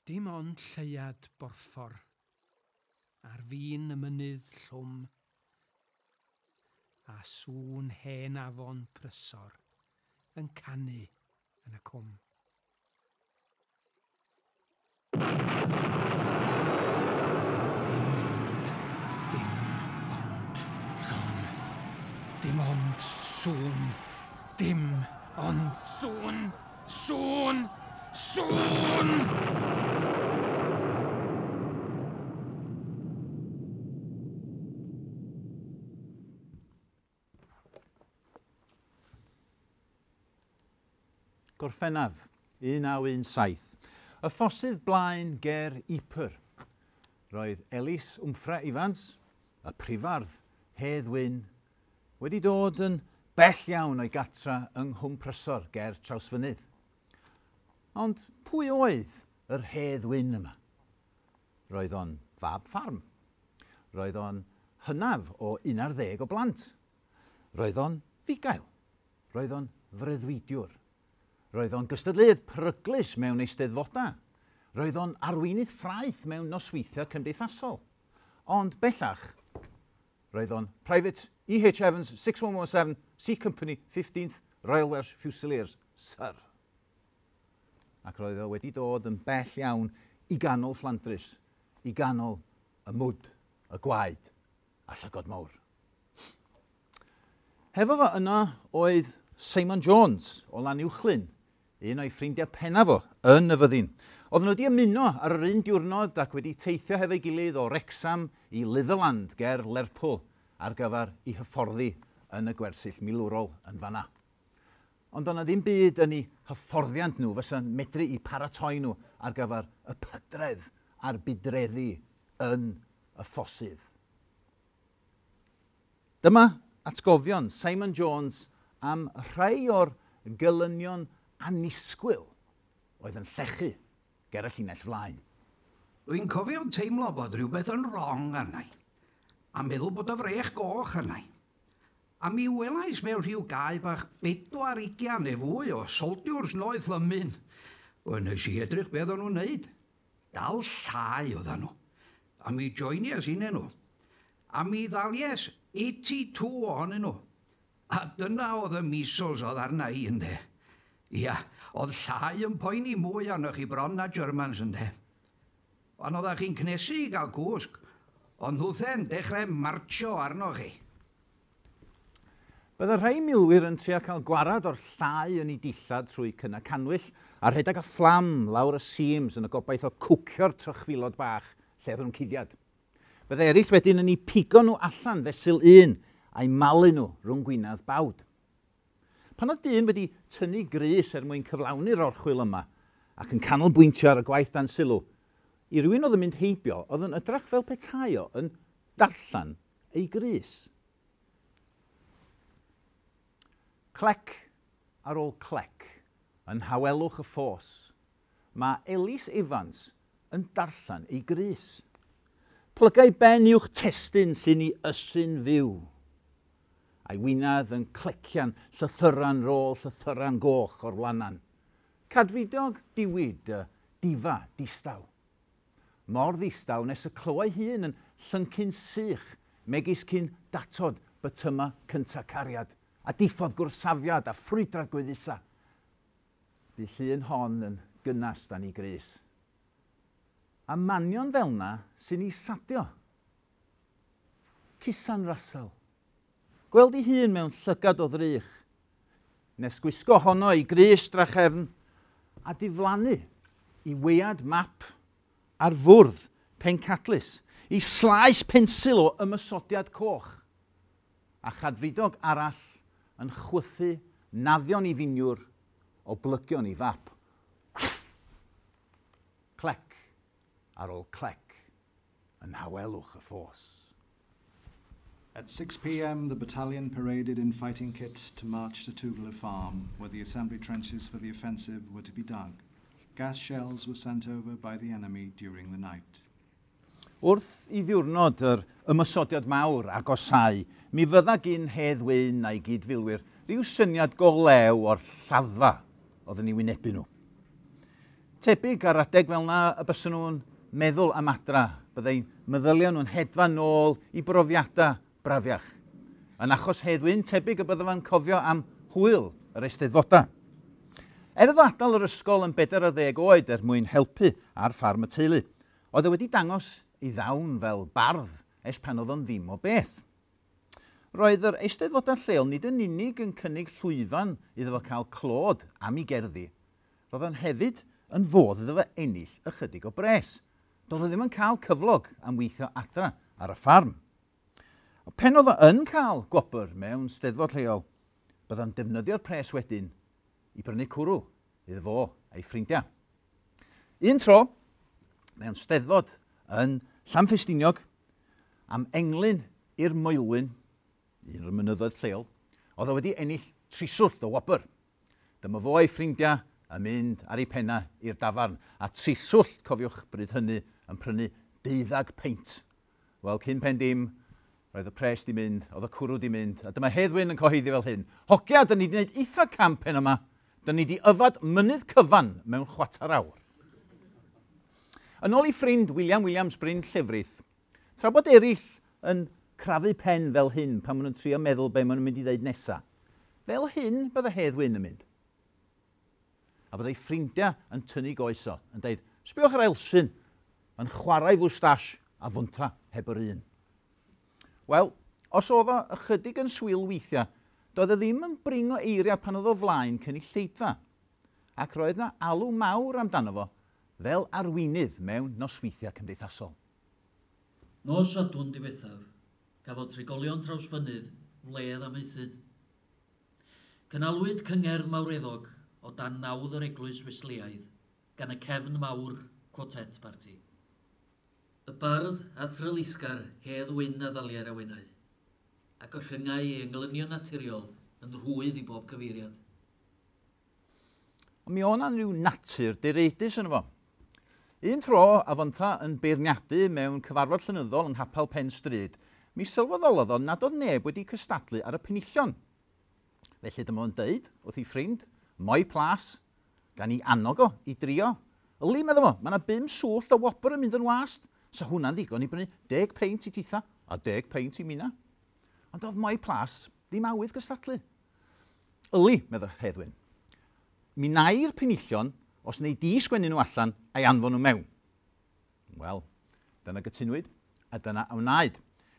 Dim ond lleuad borffor ar fin y mynydd llwm a sŵn hen afon Prysor yn canu yn y cwm. Dim ond, dim ond llwm. Dim ond sŵn. Dim ond sŵn. Sŵn! Sŵn! Gorffennaf 1917. Y ffosydd blaen ger Ypres. Roedd Elis Wmffre Ifans, y prifardd Hedd Wyn, wedi dod yn bell iawn o'i gatra yng Nghwm Prysor ger Trawsfynydd. Ond pwy oedd yr Hedd Wyn yma? Roedd o'n fab ffarm. Roedd o'n hynaf o 11 o blant. Roedd o'n fugail. Roedd o'n freuddwydiwr. Roedd o'n gystadleuydd peryglus mewn eisteddfodau. Roedd o'n arweinydd ffraeth mewn nosweithiau cymdeithasol. Ond bellach, roedd o'n Private E.H. Evans 6117 C Company 15th Royal Welsh Fusiliers, Sir. Ac roedd o wedi dod yn bell iawn i ganol Fflandrys, i ganol y mwd, y gwaed a llygod mawr. Hefo fo yno oedd Simon Jones o Lanuwchllyn, un o'i ffrindiau pennaf fo yn y fyddin. Oedden nhw wedi ymuno ar yr un diwrnod ac wedi teithio hefo'i gilydd o Wrecsam i Litherland ger Lerpwl ar gyfer i hyfforddi yn y gwersyll milwrol yn fanna. Ond o'na ddim byd yn eu hyfforddiant nhw fysa'n medru i paratoi nhw ar gyfer y pydredd a'r budreddi yn y ffosydd. Dyma atgofion Simon Jones am rhai o'r gelynion annisgwyl oedd yn llechu ger y llinell flaen. Dwi'n cofio teimlo bod rhywbeth yn wrong arna i, a meddwl bod y frech goch arna i. A mi welais mewn rhyw gae bach 24 neu fwy o soldiwrs noeth lymyn. Wel, nes i edrych beth o'n nhw'n neud. Dal llai oedden nhw. A mi joinies inne nhw. A mi ddalies 82 ohonyn nhw. A dyna oedd y measles oedd arna i, ynde. Ia, oedd llai yn poeni mwy arnoch chi bron na Germans, ynde. Ond oeddech chi'n cnesu i gael cwsg, ond nhwthe'n dechrau martsio arnoch chi. Bydde rhai milwyr yn trio cael gwarad o'r llai yn eu dillad trwy cynnau cannwyll a rhedeg y fflam lawr y seams yn y gobaith o cwcio'r trychfilod bach lle oedden nhw'n cuddiad. Bydde eraill wedyn yn eu pigo nhw allan fesul un a'u malu nhw rhwng gwinadd bawd. Pan oedd dyn wedi tynnu grys er mwyn cyflawni'r orchwyl yma ac yn canolbwyntio ar y gwaith dan sylw, i rywun oedd yn mynd heibio oedd yn ydrach fel petai o yn darllen ei grys. Clec ar ôl clec yn nhawelwch y ffos, mae Elis Evans yn darllen ei grys. Plygai ben uwch testun sy'n ei ysu'n fyw. A'i winadd yn clecian llythyran rôl llythyran goch o'r wlanan. Cadfridog diwyd y difa distaw. Mor ddistaw nes y clywai hun yn llyncu'n sych, megis cyn datod bytyma cynta cariad, a diffodd gwrsafiad a ffrwydrad gweddusa. Bu llun hon yn gynnas dan ei grys. A manion fel na sy'n ei sadio. Cusan rasel. Gweld ei hun mewn llygad o ddrych. Nes gwisgo honno i grys drachefn a diflannu i weiad map ar fwrdd pencadlys, i slaes pensil o ymosodiad coch, a chadfridog arall yn chwythu naddion i finiwr o blygion i fap. Clec ar ôl clec yn nhawelwch y ffos. At 6 p.m., the battalion paraded in fighting kit to march to Tugela Farm, where the assembly trenches for the offensive were to be dug. Gas shells were sent over by the enemy during the night. Wrth i ddiwrnod yr ymosodiad mawr agosáu, mi fydda gyn Hedd Wyn a'i gydfilwyr rhyw syniad go lew o'r lladdfa oedd yn ei wynebu nhw. Tebyg ar adeg fel 'na y byswn nhw'n meddwl am adra, byddai meddyliau nhw'n hedfan nôl i brofiadau brafiach. Yn achos Hedd Wyn, tebyg y bydda fo'n cofio am hwyl yr eisteddfodau. Er iddo adael yr ysgol yn 40 oed er mwyn helpu ar ffarm y teulu, oedd e wedi dangos ei ddawn fel bardd ers pan oedd o'n ddim o beth. Roedd yr eisteddfodau lleol nid yn unig yn cynnig llwyfan iddo fo cael clod am ei gerddi, roedd o'n hefyd yn fodd iddo fo ennill ychydig o bres. Doedd o ddim yn cael cyflog am weithio adra ar y ffarm. Pen oedd o yn cael gwobr mewn steddfod lleol, bydda'n defnyddio'r pres wedyn i brynu cwrw iddo fo a'i ffrindiau. Un tro, mewn steddfod yn Llanffestiniog, am englyn i'r Moelwyn, un o'r mynyddoedd lleol, oedd o wedi ennill triswllt o wobr. Dyma fo a'i ffrindiau yn mynd ar ei penna i'r dafarn, a triswllt, cofiwch bryd hynny, yn prynu 12 peint. Wel, cyn pen dim, roedd y pres di mynd, oedd y cwrw di mynd, a dyma Hedd Wyn yn cyhoeddi fel hyn. Hogia, dyn ni di wneud eitha camp heno yma. Dyn ni di yfad mynydd cyfan mewn chwarter awr. Yn ôl i ffrind William Williams Bryn Llefrith, tra bod eraill yn crafu pen fel hyn pan maen nhw'n trio meddwl be maen nhw'n mynd i ddeud nesa, fel hyn bydde Hedd Wyn yn mynd. A byddai ffrindiau yn tynnu goes o, yn deud, sbiwch ar Elsin, mae'n chwarae fwstash a fwnta heb yr un. Wel, os oedd o ychydig yn swil weithiau, doedd e ddim yn brin o eiriau pan oedd o flaen cynulleidfa, ac roedd na alw mawr amdano fo fel arweinydd mewn nosweithiau cymdeithasol. Nos Sadwrn diwethaf, gafodd trigolion Trawsfynydd wledd am eithin. Cynhalwyd cyngerdd mawreddog o dan nawdd yr Eglwys Wesleaidd gan y Cefn Mawr Quartet Party. Y bardd a thrylisgar Hedd Wyn a ddaliai'r awenau, ac ollyngai ei englynion naturiol yn rhwydd i bob cyfeiriad. Ond mi oedd 'na rhyw natur direidus yno fo. Un tro, a fynta yn beirniadu mewn cyfarfod llenyddol yng Nghapel Pen Stryd, mi sylweddolodd o nad oedd neb wedi cystadlu ar y penillion. Felly dyma fo'n deud wrth ei ffrind, Moi Plas, gan i annog o i drio. Yli, medda fo, mae yna 5 swllt o wobr yn mynd yn wast. Sa hwnna'n ddigon i brynu 10 peint i titha a 10 peint i mina. Ond oedd Moi Plas ddim awydd gystadlu. Yli, medda Hedd Wyn, mi nai'r penillion os neu di sgwennu nhw allan a'i anfon nhw mewn. Wel, dyna gytunwyd a dyna a wnaed.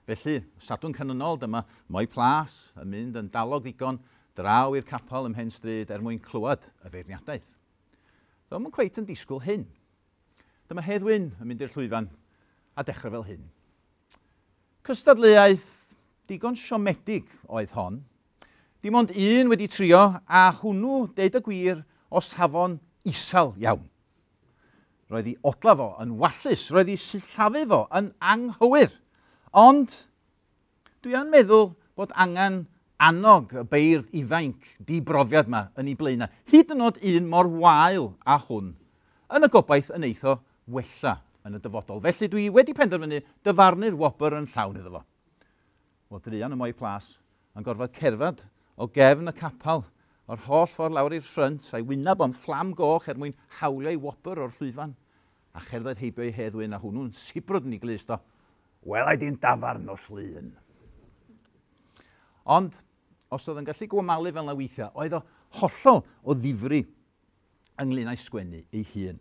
Felly, Sadwrn canlynol, dyma Moi Plas yn mynd yn dalog ddigon draw i'r capel ym Mhen Stryd er mwyn clywed y feirniadaeth. Ddo'm yn cweit yn disgwyl hyn. Dyma Hedd Wyn yn mynd i'r llwyfan a dechrau fel hyn. Cystadleuaeth digon siomedig oedd hon. Dim ond un wedi trio, a hwnnw, deud y gwir, o safon isel iawn. Roedd ei odla fo yn wallus, roedd ei sillafu fo yn anghywir. Ond dwi yn meddwl bod angen annog y beirdd ifainc dibrofiad yma yn ei blaenau, hyd yn oed un mor wael â hwn, yn y gobaith yn eitho wella yn y dyfodol. Felly dwi wedi penderfynu dyfarnu'r wobr yn llawn iddo fo. Wel, druan y Moi Plas yn gorfod cerdded o gefn y capel o'r holl ffordd lawr i'r ffrynt a'i wyneb o'n fflam goch er mwyn hawlio ei wobr o'r llwyfan, a cherdded heibio i Hedd Wyn a hwnnw'n sibrwd yn ei glust o, wel, ai di'n dafarn nos Lun. Ond, os oedd yn gallu gwamalu fel na weithiau, oedd o hollol o ddifri ynglyn â'i sgwennu ei hun.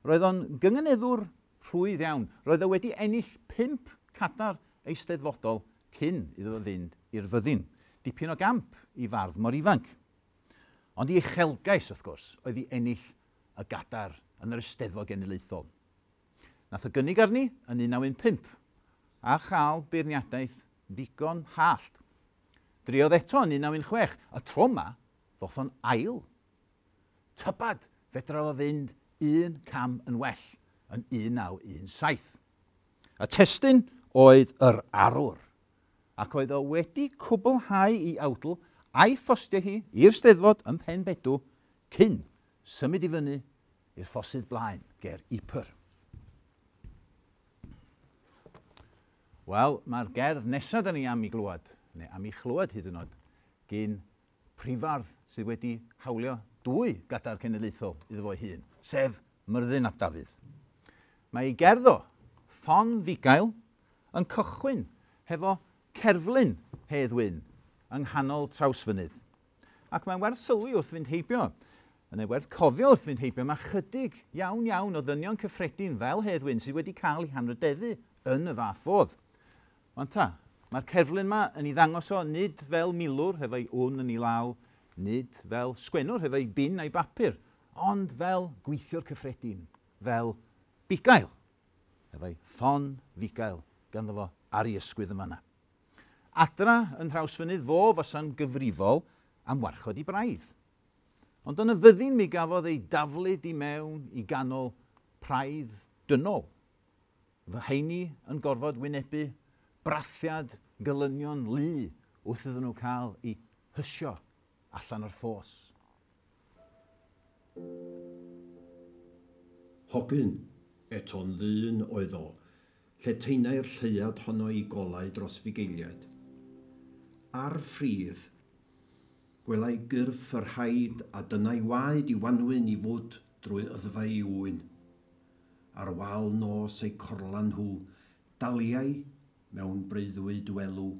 Roedd o'n gynganeddwr rhwydd iawn. Roedd o wedi ennill 5 cadar eisteddfodol cyn iddo fo fynd i'r fyddin. Dipyn o gamp i fardd mor ifanc. Ond ei uchelgais, wrth gwrs, oedd i ennill y gadar yn yr Eisteddfod Genedlaethol. Nath o gynnig arni yn 1915 a chael beirniadaeth ddigon hallt. Driodd eto yn 1916, y tro yma ddoth o'n ail. Tybad, fedra fo fynd un cam yn well yn 1917. Y testun oedd yr arwr, ac oedd o wedi cwblhau i awdl a'i phostio hi i'r Steddfod ym Mhen Bedw cyn symud i fyny i'r ffosydd blaen ger Ypres. Wel, mae'r gerdd nesaf da ni am i glywed, neu am i chlywed hyd yn oed, gyn prifardd sydd wedi hawlio Dwy gadair cenedlaethol iddo fo'i hun, sef Myrddin ap Dafydd. Mae ei gerdd o, Ffon Fugail, yn cychwyn hefo cerflun Hedd Wyn yng nghanol Trawsfynydd. Ac mae'n werth sylwi wrth fynd heibio, yn ei werth cofio wrth fynd heibio, mae chydig iawn iawn o ddynion cyffredin fel Hedd Wyn sydd wedi cael eu hanrhydeddu yn y fath fodd. Wan ta, mae'r cerflun yma yn ei ddangos o nid fel milwr hefo'i wn yn ei law, nid fel sgwennwr hefo'i bin a'i bapur, ond fel gweithiwr cyffredin, fel bugail, efo'i ffon fugail ganddo fo ar ei ysgwydd yn fanna. Adra yn Nhrawsfynydd fo fasa'n gyfrifol am warchod i braidd. Ond yn y fyddin mi gafodd ei daflud i mewn i ganol praidd dynol. Fy heini yn gorfod wynebu brathiad gelynion lu wrth iddyn nhw cael eu hysio allan o'r ffos. Hogyn, eto'n ddyn oedd o, lle taenai'r lleuad honno i golau dros fugeiliaid. Ar ffridd, gwelai gyrff yr haid a dyna'i waed i wanwyn i fwd drwy yddfau i ŵyn. Ar wal nos eu corlan nhw, daliai, mewn breuddwyd welw,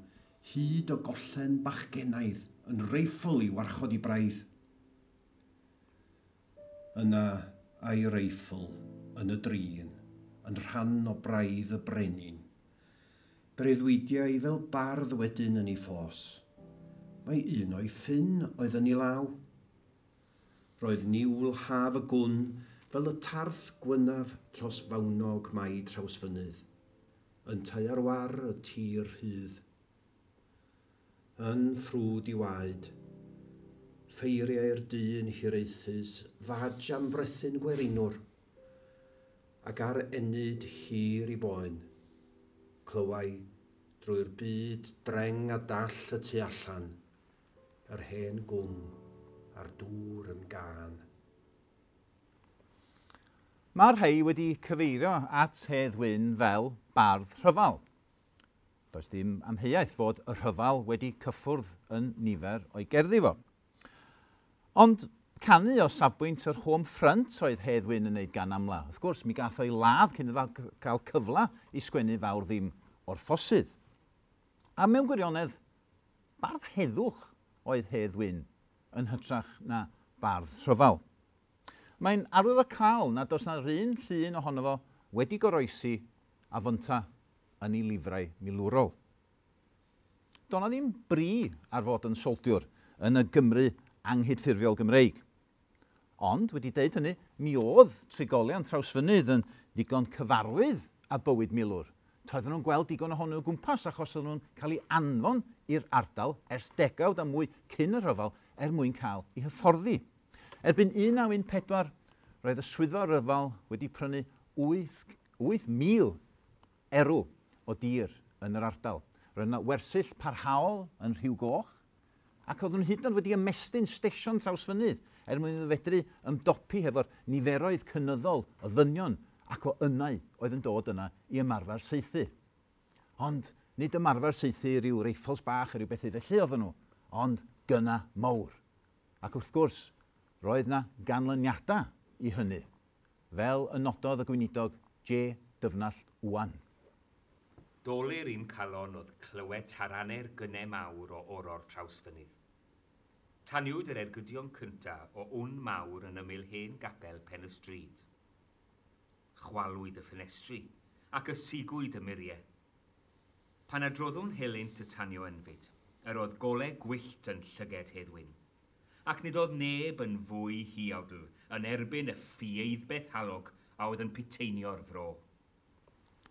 hyd o gollen bachgennaidd yn reiffl i warchod i braidd. Yna a'i reiffl yn y drin, yn rhan o braidd y brenin. Breuddwydiai fel bardd wedyn yn ei ffos. Mae un o'i ffyn oedd yn ei law. Roedd niwl haf y gwn fel y tarth gwynaf tros fawnog mai Trawsfynydd, yntau ar war y tir rhydd. Yn ffrwd i waed, ffeiriau'r dyn hiraethus fadj am frethyn gwerinwr, ac ar ennyd hir i boen, clywai drwy'r byd dreng a dall y tu allan, yr hen gwm a'r dŵr yn gân. Mae'r rhai wedi cyfeirio at Hedd Wyn fel bardd rhyfel. Does dim amheuaeth fod y rhyfel wedi cyffwrdd yn nifer o'i gerddi fo. Ond canu o safbwynt yr home front oedd Hedd Wyn yn wneud gan amla. Wrth gwrs, mi gath o'i ladd cyn iddo gael cyfle i sgwennu fawr ddim o'r ffosydd. A mewn gwirionedd, bardd heddwch oedd Hedd Wyn yn hytrach na bardd rhyfel. Mae'n arwyddocaol nad oes na'r un llun ohono fo wedi goroesi a fynta yn ei lifrau milwrol. Do' 'na ddim bri ar fod yn soldiwr yn y Gymru anghydffurfiol Gymreig. Ond, wedi deud hynny, mi oedd trigolion Trawsfynydd yn ddigon cyfarwydd â bywyd milwr. Toedden nhw'n gweld digon ohonyn nhw o gwmpas achos oedden nhw'n cael eu anfon i'r ardal ers degawd a mwy cyn y rhyfel er mwyn cael eu hyfforddi. Erbyn 1914, roedd y swyddfa ryfel wedi prynu 8,000 erw o dir yn yr ardal. Roedd yna wersyll parhaol yn Rhiw Goch, ac oedden nhw hyd yn oed wedi ymestyn stesion Trawsfynydd er mwyn iddo fedru ymdopi hefo'r niferoedd cynyddol o ddynion ac o ynnau oedd yn dod yna i ymarfer saethu. Ond nid ymarfer saethu rhyw reiffels bach a rhyw bethau felly oedden nhw, ond gynna mawr. Ac wrth gwrs, roedd yna ganlyniadau i hynny, fel y nododd y gweinidog J. Dyfnallt Owen. Dolur i'm calon oedd clywed taranau'r gynnau mawr o oror Trawsfynydd. Taniwyd yr ergydion cyntaf o wn mawr yn ymyl hen gapel pen y stryd. Chwalwyd y ffenestri ac ysigwyd y muriau. Pan adroddwn helynt y tanio ynfyd, yr oedd golau gwyllt yn llyged Hedd Wyn, ac nid oedd neb yn fwy huawdl yn erbyn y ffieiddbeth halog a oedd yn piteinio'r fro.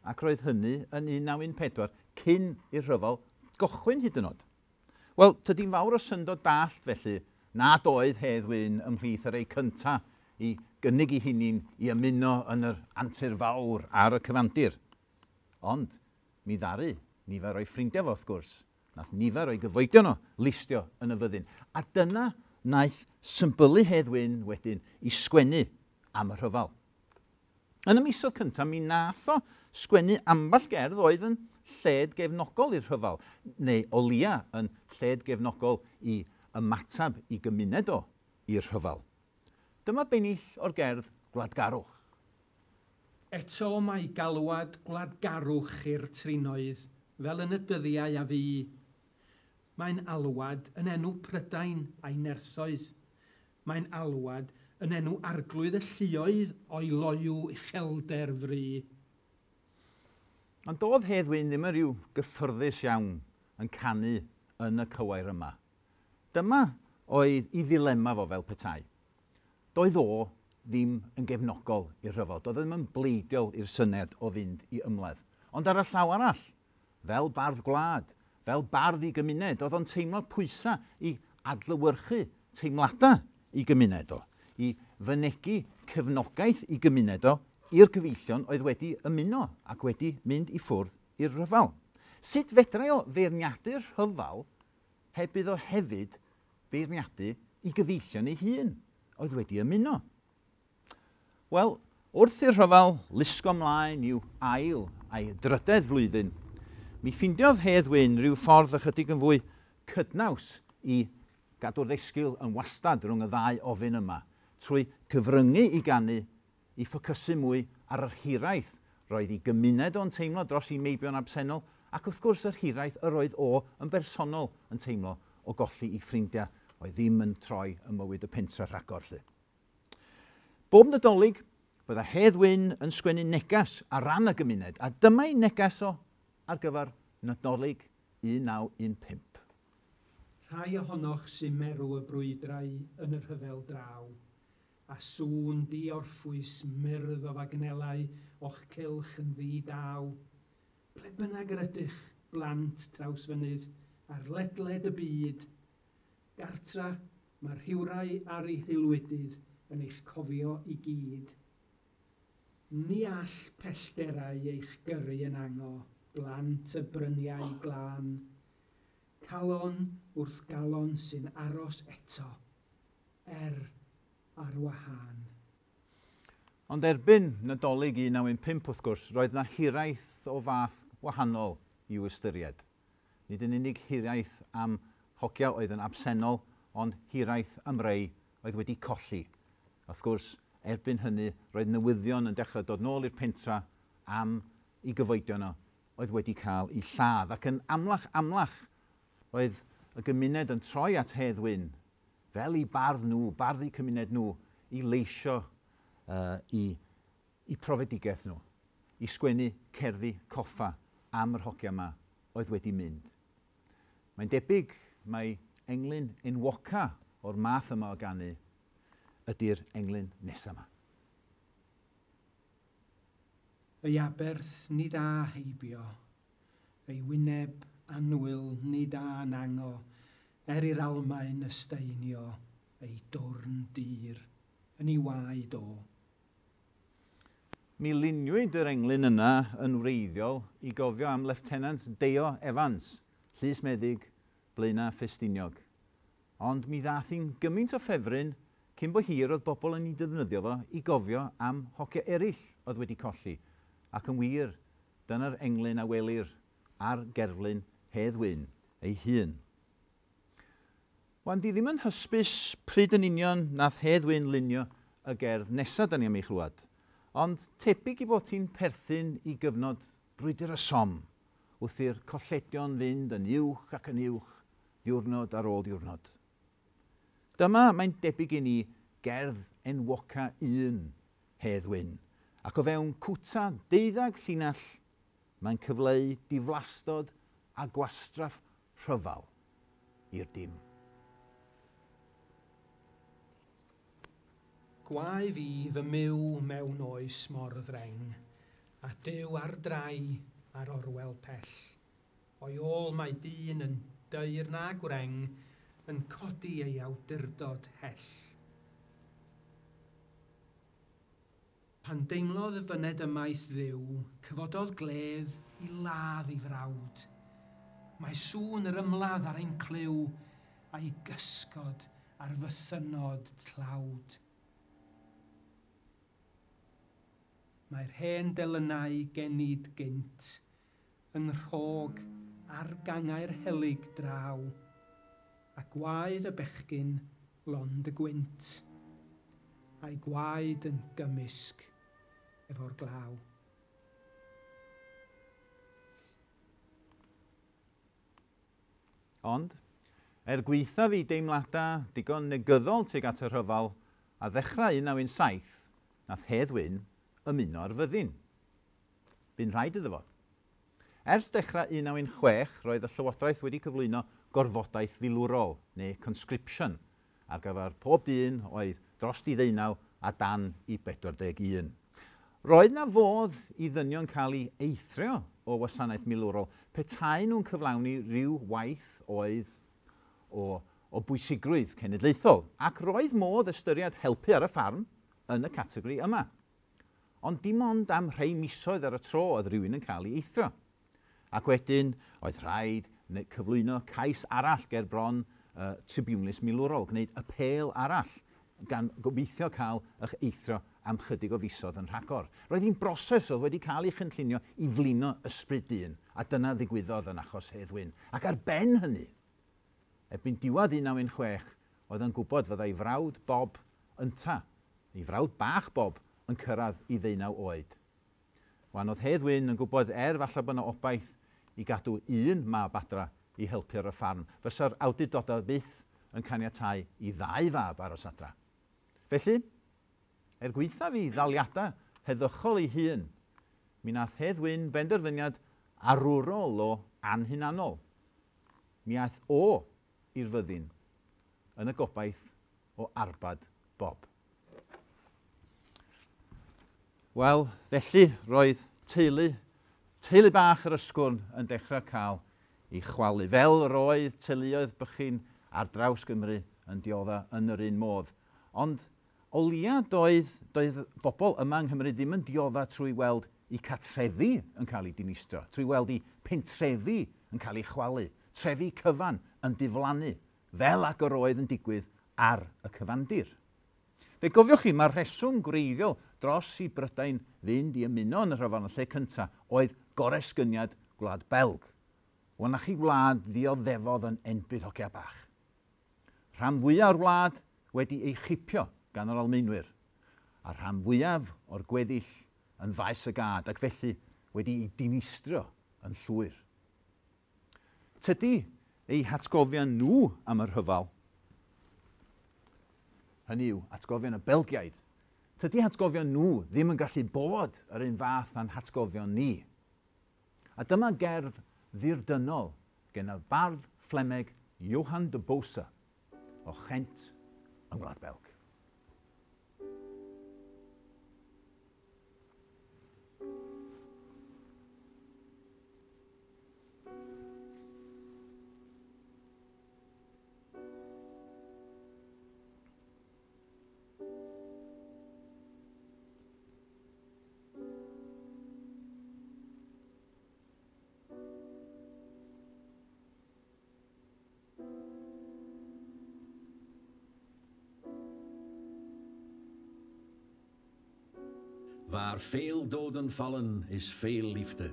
Ac roedd hynny yn 1914, cyn i'r rhyfel gochwyn hyd yn oed. Wel, tydi'n fawr o syndod dallt felly nad oedd Hedd Wyn ymhlith yr ei cynta i gynnig ei hunin i ymuno yn yr antur fawr ar y cyfandir. Ond mi ddaru nifer o'i ffrindiau fo, wrth gwrs. Nath nifer o'i gyfoedion o listio yn y fyddin. A dyna wnaeth symbylu Hedd Wyn wedyn i sgwennu am y rhyfel. Yn y misoedd cyntaf, mi nath o sgwennu ambell gerdd oedd yn lled gefnogol i'r rhyfel, neu o leia yn lled gefnogol i ymateb i gymuned o i'r rhyfel. Dyma bennill o'r gerdd Gwladgarwch. Eto mae galwad gwladgarwch i'r trinoedd, fel yn y dyddiau a fu. Mae'n alwad yn enw Prydain a'i nerthoedd. Mae'n alwad yn enw arglwydd y lluoedd o'i loyw uchelder fri. Ond doedd Hedd Wyn ddim yn rhyw gyffyrddus iawn yn canu yn y cywair yma. Dyma oedd ei ddilema fo fel petai. Doedd o ddim yn gefnogol i'r rhyfel. Doedd o ddim yn bleidiol i'r syniad o fynd i ymladd. Ond ar y llaw arall, fel bardd gwlad, fel bardd i gymuned, oedd o'n teimlo pwysau i adlewyrchu teimladau i gymuned o, i fynegi cefnogaeth i gymuned o i'r cyfeillion oedd wedi ymuno ac wedi mynd i ffwrdd i'r rhyfel. Sut fedrai o feirniadu'r rhyfel heb iddo hefyd feirniadu i gyfeillion ei hun oedd wedi ymuno? Wel, wrth i'r rhyfel lusgo ymlaen i'w ail a'i drydedd flwyddyn, mi ffeindiodd Hedd Wyn rhyw ffordd ychydig yn fwy cydnaws i gadw'r ddesgyl yn wastad rhwng y ddau ofyn yma, trwy cyfryngu i ganu i ffocysu mwy ar yr hiraeth roedd ei gymuned o'n teimlo dros ei meibion absennol, ac wrth gwrs yr hiraeth yr oedd o yn bersonol yn teimlo o golli ei ffrindiau oedd ddim yn troi ym mywyd y pentre rhagor. Lly. Bob Nadolig, bydda Hedd Wyn yn sgwennu negas ar ran y gymuned, a dyma ei negas o ar gyfer Nadolig 1915. Rhai ohonoch sy'n merw y brwydrau yn y rhyfel draw, a sŵn diorffwys myrdd o fagnelau o'ch cylch yn ddi-daw. Ble bynnag yr ydych, blant Trawsfynydd, ar ledled y byd, gartra mae rhywrai ar ei haelwydydd yn eich cofio i gyd. Ni all pellterau eich gyrru yn ango, blant y bryniau glân. Calon wrth galon sy'n aros eto, ar wahân. Ond erbyn Nadolig 1915 wrth gwrs, roedd na hiraeth o fath wahanol i'w ystyried. Nid yn unig hiraeth am hogia oedd yn absennol, ond hiraeth am rei oedd wedi colli. Wrth gwrs, erbyn hynny, roedd newyddion yn dechrau dod nôl i'r pentra am i gyfoedion o oedd wedi cael ei lladd. Ac yn amlach amlach, roedd y gymuned yn troi at Hedd Wyn, fel i bardd nhw, bardd eu cymuned nhw, i leisio i profedigaeth nhw, i sgwennu cerddi coffa am yr hogia yma oedd wedi mynd. Mae'n debyg mai englyn enwoca o'r math yma o ganu ydy'r englyn nesaf yma. Ei aberth nid a heibio, ei wyneb annwyl nid a nango, er i'r Almaen ysteinio, ei dwrn dir yn ei waed o. Mi luniwyd yr englyn yna yn wreiddiol i gofio am Lieutenant Deio Evans, llys meddyg Blaenau Ffestiniog. Ond mi ddath hi'n gymaint o ffefryn cyn bo hir oedd bobl yn ei defnyddio fo i gofio am hogia eraill oedd wedi colli. Ac yn wir, dyna'r englyn a welir ar gerflun Hedd Wyn ei hun. Wan, di ddim yn hysbys pryd yn union nath Hedd Wyn lunio y gerdd nesaf da ni am ei chlywed, ond tebyg i bod ti'n perthyn i gyfnod brwydr y Somme, wrth i'r colledion fynd yn uwch ac yn uwch, diwrnod ar ôl diwrnod. Dyma, mae'n debyg i ni, gerdd enwoca un Hedd Wyn, ac o fewn cwta 12 llinell, mae'n cyfleu diflastod a gwastraff rhyfel i'r dim. Gwae fi fy myw mewn oes mor ddreng, a Duw ar drai ar orwel pell. O'i ôl mae dyn yn dyr na gwreng, yn codi ei awdurdod hell. Pan deimlodd y fyned ymaith Dduw, cyfododd gledd i ladd ei frawd. Mae sŵn yr ymladd ar ein clyw, a'i gysgod ar fythynod tlawd. Mae'r hen delynau genid gynt, yng nghrog ar gangau'r helyg draw, a gwaedd y bechgyn lond y gwynt. A'i gwaed yn gymysg efo'r glaw. Ond, gwaethaf ei deimladau digon negyddol tuag at y rhyfel, a ddechrau 1917, nath Hedd Wyn ymuno â'r fyddin. Bu'n rhaid iddo fo. Ers dechrau 1916, roedd y Llywodraeth wedi cyflwyno gorfodaeth filwrol, neu conscription, ar gyfer pob dyn oedd dros 19 a dan i 41. Roedd na fodd i ddynion cael ei eithrio o wasanaeth milwrol petai nhw'n cyflawni rhyw waith oedd o bwysigrwydd cenedlaethol, ac roedd modd ystyried helpu ar y ffarm yn y categori yma. Ond dim ond am rhai misoedd ar y tro oedd rhywun yn cael ei eithrio. Ac wedyn oedd rhaid cyflwyno cais arall ger bron tribiwnlys milwrol, gwneud apêl arall, gan gobeithio cael eich eithrio am chydig o fisoedd yn rhagor. Roedd hi'n broses oedd wedi cael ei chynllunio i flino ysbryd dyn, a dyna ddigwyddodd yn achos Hedd Wyn. Ac ar ben hynny, erbyn diwedd 1916, oedd yn gwybod fyddai frawd Bob ynta, ei frawd bach Bob, yn cyrraedd i 19 oed. Wan oedd Hedd Wyn yn gwybod falle bod yna obaith i gadw un mab adra i helpu ar y ffarm. Fysa'r awdurdodau byth yn caniatáu i ddau fab aros adra. Felly, gwaethaf ei ddaliadau heddychol ei hun, mi nath Hedd Wyn benderfyniad arwrol o anhunanol. Mi aeth o i'r fyddin yn y gobaith o arbad Bob. Wel, felly roedd teulu bach yr Ysgwrn yn dechrau cael ei chwalu, fel roedd teuluoedd bychin ar draws Gymru yn diodda yn yr un modd. Ond o leia doedd bobl yma yng Nghymru ddim yn diodda trwy weld eu cartrefi yn cael eu dinistrio, trwy weld eu pentrefi yn cael eu chwalu, trefi cyfan yn diflannu, fel ag yr oedd yn digwydd ar y cyfandir. Fe gofiwch chi, mae'r rheswm gwreiddiol dros i Brydain fynd i ymuno yn y rhyfel yn y lle cyntaf oedd goresgyniad Gwlad Belg. Wel, na chi wlad ddioddefodd yn enbyd hogia bach. Rhan fwyaf o'r wlad wedi ei chipio gan yr Almaenwyr, a rhan fwyaf o'r gweddill yn faes y gad, ac felly wedi ei dinistrio yn llwyr. Tydi eu hatgofion nhw am y rhyfel, hynny yw atgofion y Belgiaid, tydi hatgofion nhw ddim yn gallu bod yr un fath â'n hatgofion ni. A dyma gerdd ddirdynol gen y bardd Fflemeg Johan de Bosa o Ghent yng Ngwlad Belg. Waar veel doden vallen, is veel liefde.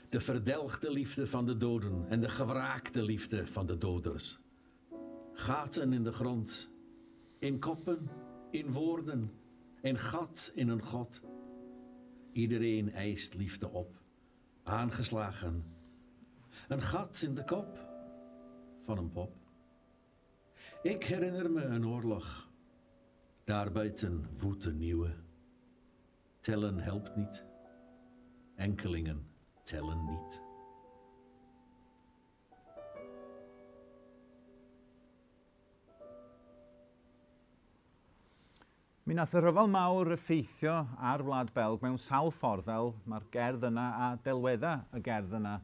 De verdelgde liefde van de doden en de gewraakte liefde van de doders. Gaten in de grond, in koppen, in woorden, een gat in een god. Iedereen eist liefde op, aangeslagen. Een gat in de kop van een pop. Ik herinner me een oorlog. Daarbuiten woedt een nieuwe. Tellen helpt niet. Enkelingen tellen niet. Mi nath y rhyfel mawr effeithio ar Wlad Belg mewn sawl ffordd, fel mae'r gerdd yna a delweddau y gerdd yna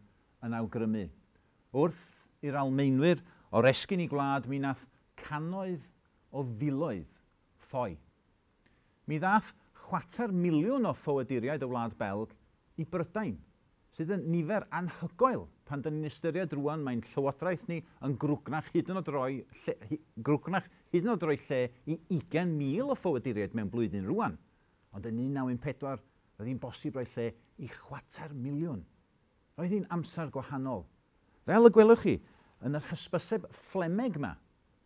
yn awgrymu. Wrth i'r Almaenwyr oresgyn i gwlad, mi nath cannoedd o filoedd ffoi. Mi ddath 250,000 o ffoaduriaid o Wlad Belg i Brydain, sydd yn nifer anhygoel pan dyn ni'n ystyried rwan mae'n llywodraeth ni yn grwgnach hyd yn oed roi lle i 20,000 o ffoaduriaid mewn blwyddyn rwan. Ond yn 1914, roedd hi'n bosib roi lle i 250,000. Roedd hi'n amser gwahanol. Fel y gwelwch chi, yn yr hysbyseb Fflemeg yma,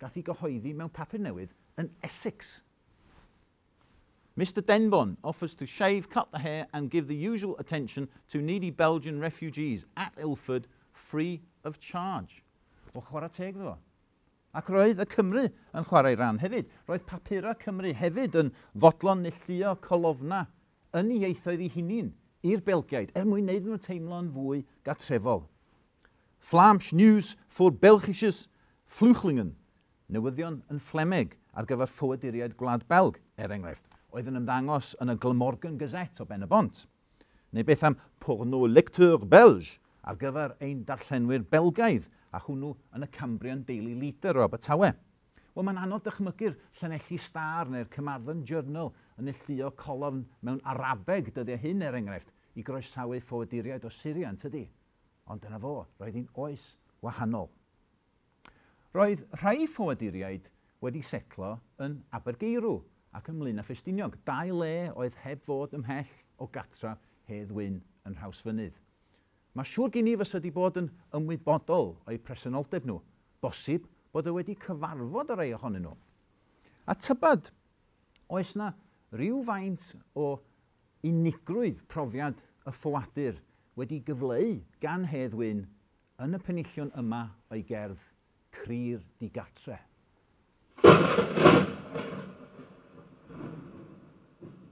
gath ei gyhoeddi mewn papur newydd yn Essex. Mr Denbon offers to shave, cut the hair and give the usual attention to needy Belgian refugees at Ilford free of charge. Wel, chwarae teg iddo fo. Ac roedd y Cymru yn chwarae rhan hefyd. Roedd papurau Cymru hefyd yn fodlon neilltuo colofna yn ei ieithoedd ei hunain i'r Belgiaid er mwyn wneud nhw teimlo'n fwy gartrefol. Vlaams Nieuws voor Belgische Vluchtelingen. Newyddion yn Fflemeg ar gyfer ffoaduriaid Gwlad Belg, er enghraifft, oedd yn ymddangos yn y Glamorgan Gazette o Ben y Bont. Neu beth am Pour nos lecteurs belges ar gyfer ein darllenwyr Belgaidd, a hwnnw yn y Cambrian Daily Leader o Abertawe. Wel, mae'n anodd dychmygu'r Llanelli Star neu'r Carmarthen Journal yn neilltuo colofn mewn Arabeg dyddiau hyn, er enghraifft, i groesawu ffoaduriaid o Syria, yn tydi? Ond dyna fo, roedd hi'n oes wahanol. Roedd rhai ffoaduriaid wedi setlo yn Abergeirw ac ym Mlaenau Ffestiniog, dau le oedd heb fod ymhell o gatra Hedd Wyn yn Nhrawsfynydd. Mae siŵr gen i fysa wedi bod yn ymwybodol o'u presenoldeb nhw. Bosib bod e wedi cyfarfod y rhai ohonyn nhw. A tybad, oes na rhyw faint o unigrwydd profiad y ffoadur wedi gyfleu gan Hedd Wyn yn y penillion yma o'i gerdd Cri'r Digatre.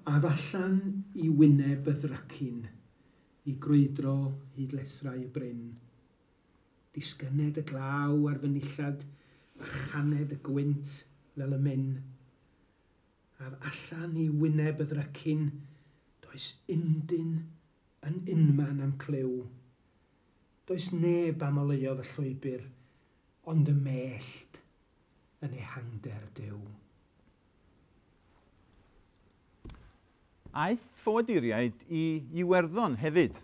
Af allan i wyneb y ddrycin, i grwydro hyd lethrau y bryn. Disgyned y glaw ar fy nillad, a chaned y gwynt fel y myn. Af allan i wyneb y ddrycin, does undyn yn unman am clyw. Does neb am oleuodd y llwybr, ond y mellt yn ehangder Duw. Aeth ffoaduriaid i Iwerddon hefyd.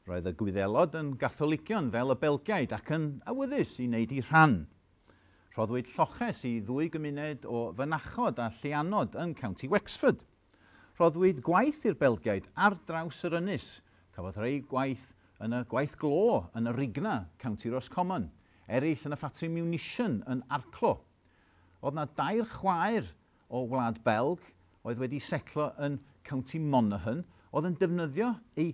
Roedd y Gwyddelod yn Gatholigion fel y Belgiaid ac yn awyddus i wneud eu rhan. Rhoddwyd lloches i ddwy gymuned o fynachod a lleianod yn County Wexford. Rhoddwyd gwaith i'r Belgiaid ar draws yr ynys. Cafodd rhai gwaith yn y gwaith glo yn y Rigna, County Roscommon. Eraill yn y ffatri munition yn Arklow. Oedd na dair chwaer o Wlad Belg oedd wedi setlo yn County Monaghan, oedd yn defnyddio ei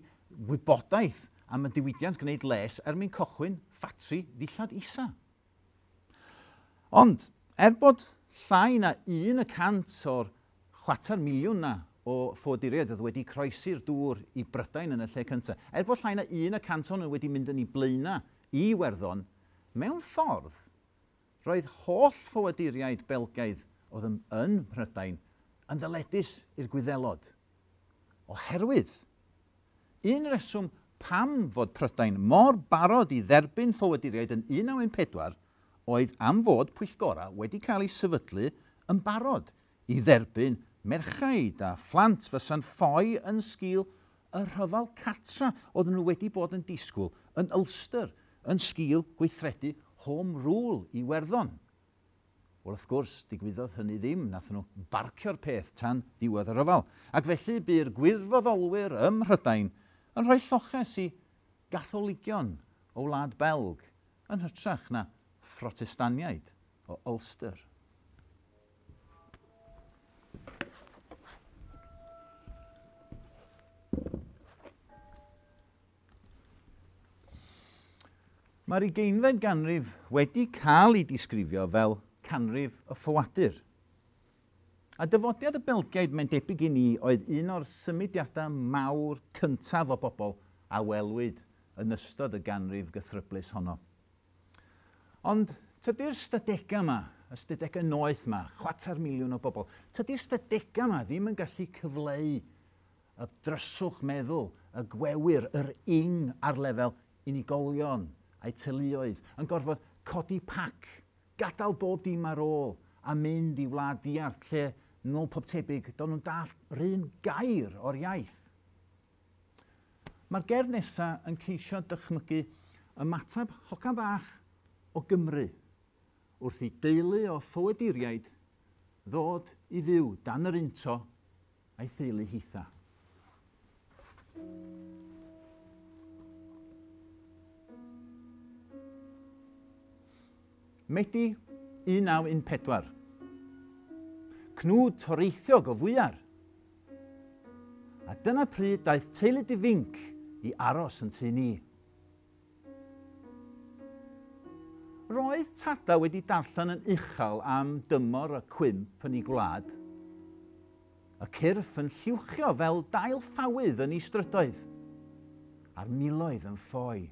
wybodaeth am y diwydiant gwneud les er mwyn cychwyn ffatri ddillad isa. Ond, er bod llai na 1% o'r 250,000 na o ffoaduriaid oedd wedi croesi'r dŵr i Brydain yn y lle cyntaf, er bod llai na 1% ohonyn nhw wedi mynd yn ei blaenau i Iwerddon, mewn ffordd, roedd holl ffoaduriaid Belgaidd oedd yn Mhrydain yn ddyledus i'r Gwyddelod. Oherwydd, un reswm pam fod Prydain mor barod i dderbyn ffoaduriaid yn 1914 oedd am fod pwyllgora wedi cael ei sefydlu yn barod i dderbyn merchaid a phlant fysa'n ffoi yn sgil y rhyfel cartra oedden nhw wedi bod yn disgwyl yn Ulster yn sgil gweithredu Home Rule i Iwerddon. Wel, wrth gwrs, digwyddodd hynny ddim, nath nhw barcio'r peth tan diwedd y rhyfel. Ac felly bu'r gwirfoddolwyr ym Mhrydain yn rhoi lloches i Gatholigion o Wlad Belg yn hytrach na Phrotestaniaid o Ulster. Mae'r 20fed ganrif wedi cael ei disgrifio fel canrif y ffoadur. A dyfodiad y Belgiaid, mae'n debyg i ni, oedd un o'r symudiadau mawr cyntaf o bobl a welwyd yn ystod y ganrif gythryblus honno. Ond tydi'r stadegau yma, y stadegau noeth yma, 250,000 o bobl, tydi'r stadegau yma ddim yn gallu cyfleu y dryswch meddwl, y gwewyr, yr ing ar lefel unigolion a'u teuluoedd, yn gorfod codi pac, gadael bob dim ar ôl a mynd i wlad diarth lle nôl pob tebyg, do'n nhw'n dallt yr un gair o'r iaith. Mae'r gerdd nesaf yn ceisio dychmygu ymateb hogan bach o Gymru wrth i deulu o ffoaduriaid ddod i fyw dan yr un to a'i theulu hitha. Medi 1914. Cnwd toreithiog o fwyar. Dyna pryd daeth teulu difinc i aros yn tŷ ni. Roedd tada wedi darllen yn uchel am dymor y cwymp yn ei gwlad. Y cyrff yn lluwchio fel dail ffawydd yn ei strydoedd, a'r miloedd yn ffoi.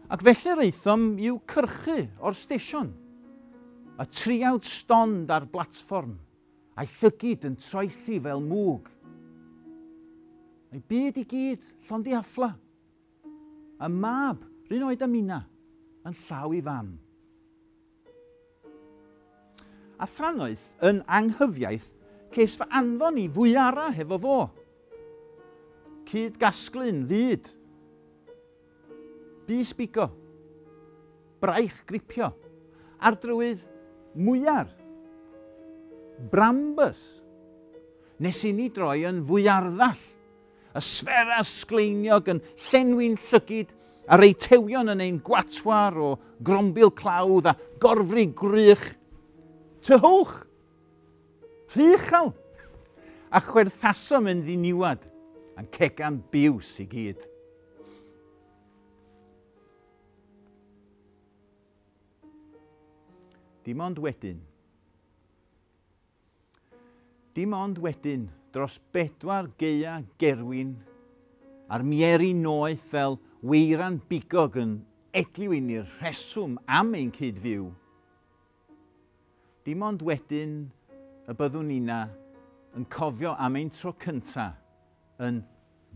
Ac felly reithom i'w cyrchu o'r stesion, y triawd stond ar blatfform, a'i llygid yn troelli fel mwg. A'i byd i gyd llond i affla. Y mab, r'un oed â minna, yn llaw i fam. A thrannoeth yn anghyfiaith ces fy anfon i fwyara hefo fo. Cyd gasglu'n fyd. Bys bigo. Braich gripio. Ar drywydd mwyar. Brambus. Nes i ni droi yn fwyarddall. Y sfera sgleiniog yn llenwi'n llygid a'r eitewion yn ein gwatwar o grombil clawdd a gorfri gwrych. Tyhwch! Rhy uchel! A chwerthasom yn ddiniwad, a'n cegan biws i gyd. Dim ond wedyn. Dim ond wedyn, dros 4 gaea gerwin, a'r mieri noeth fel weiran bigog yn edliw i ni'r rheswm am ein cyd-fyw. Dim ond wedyn y byddwn ni'na yn cofio am ein tro cynta yn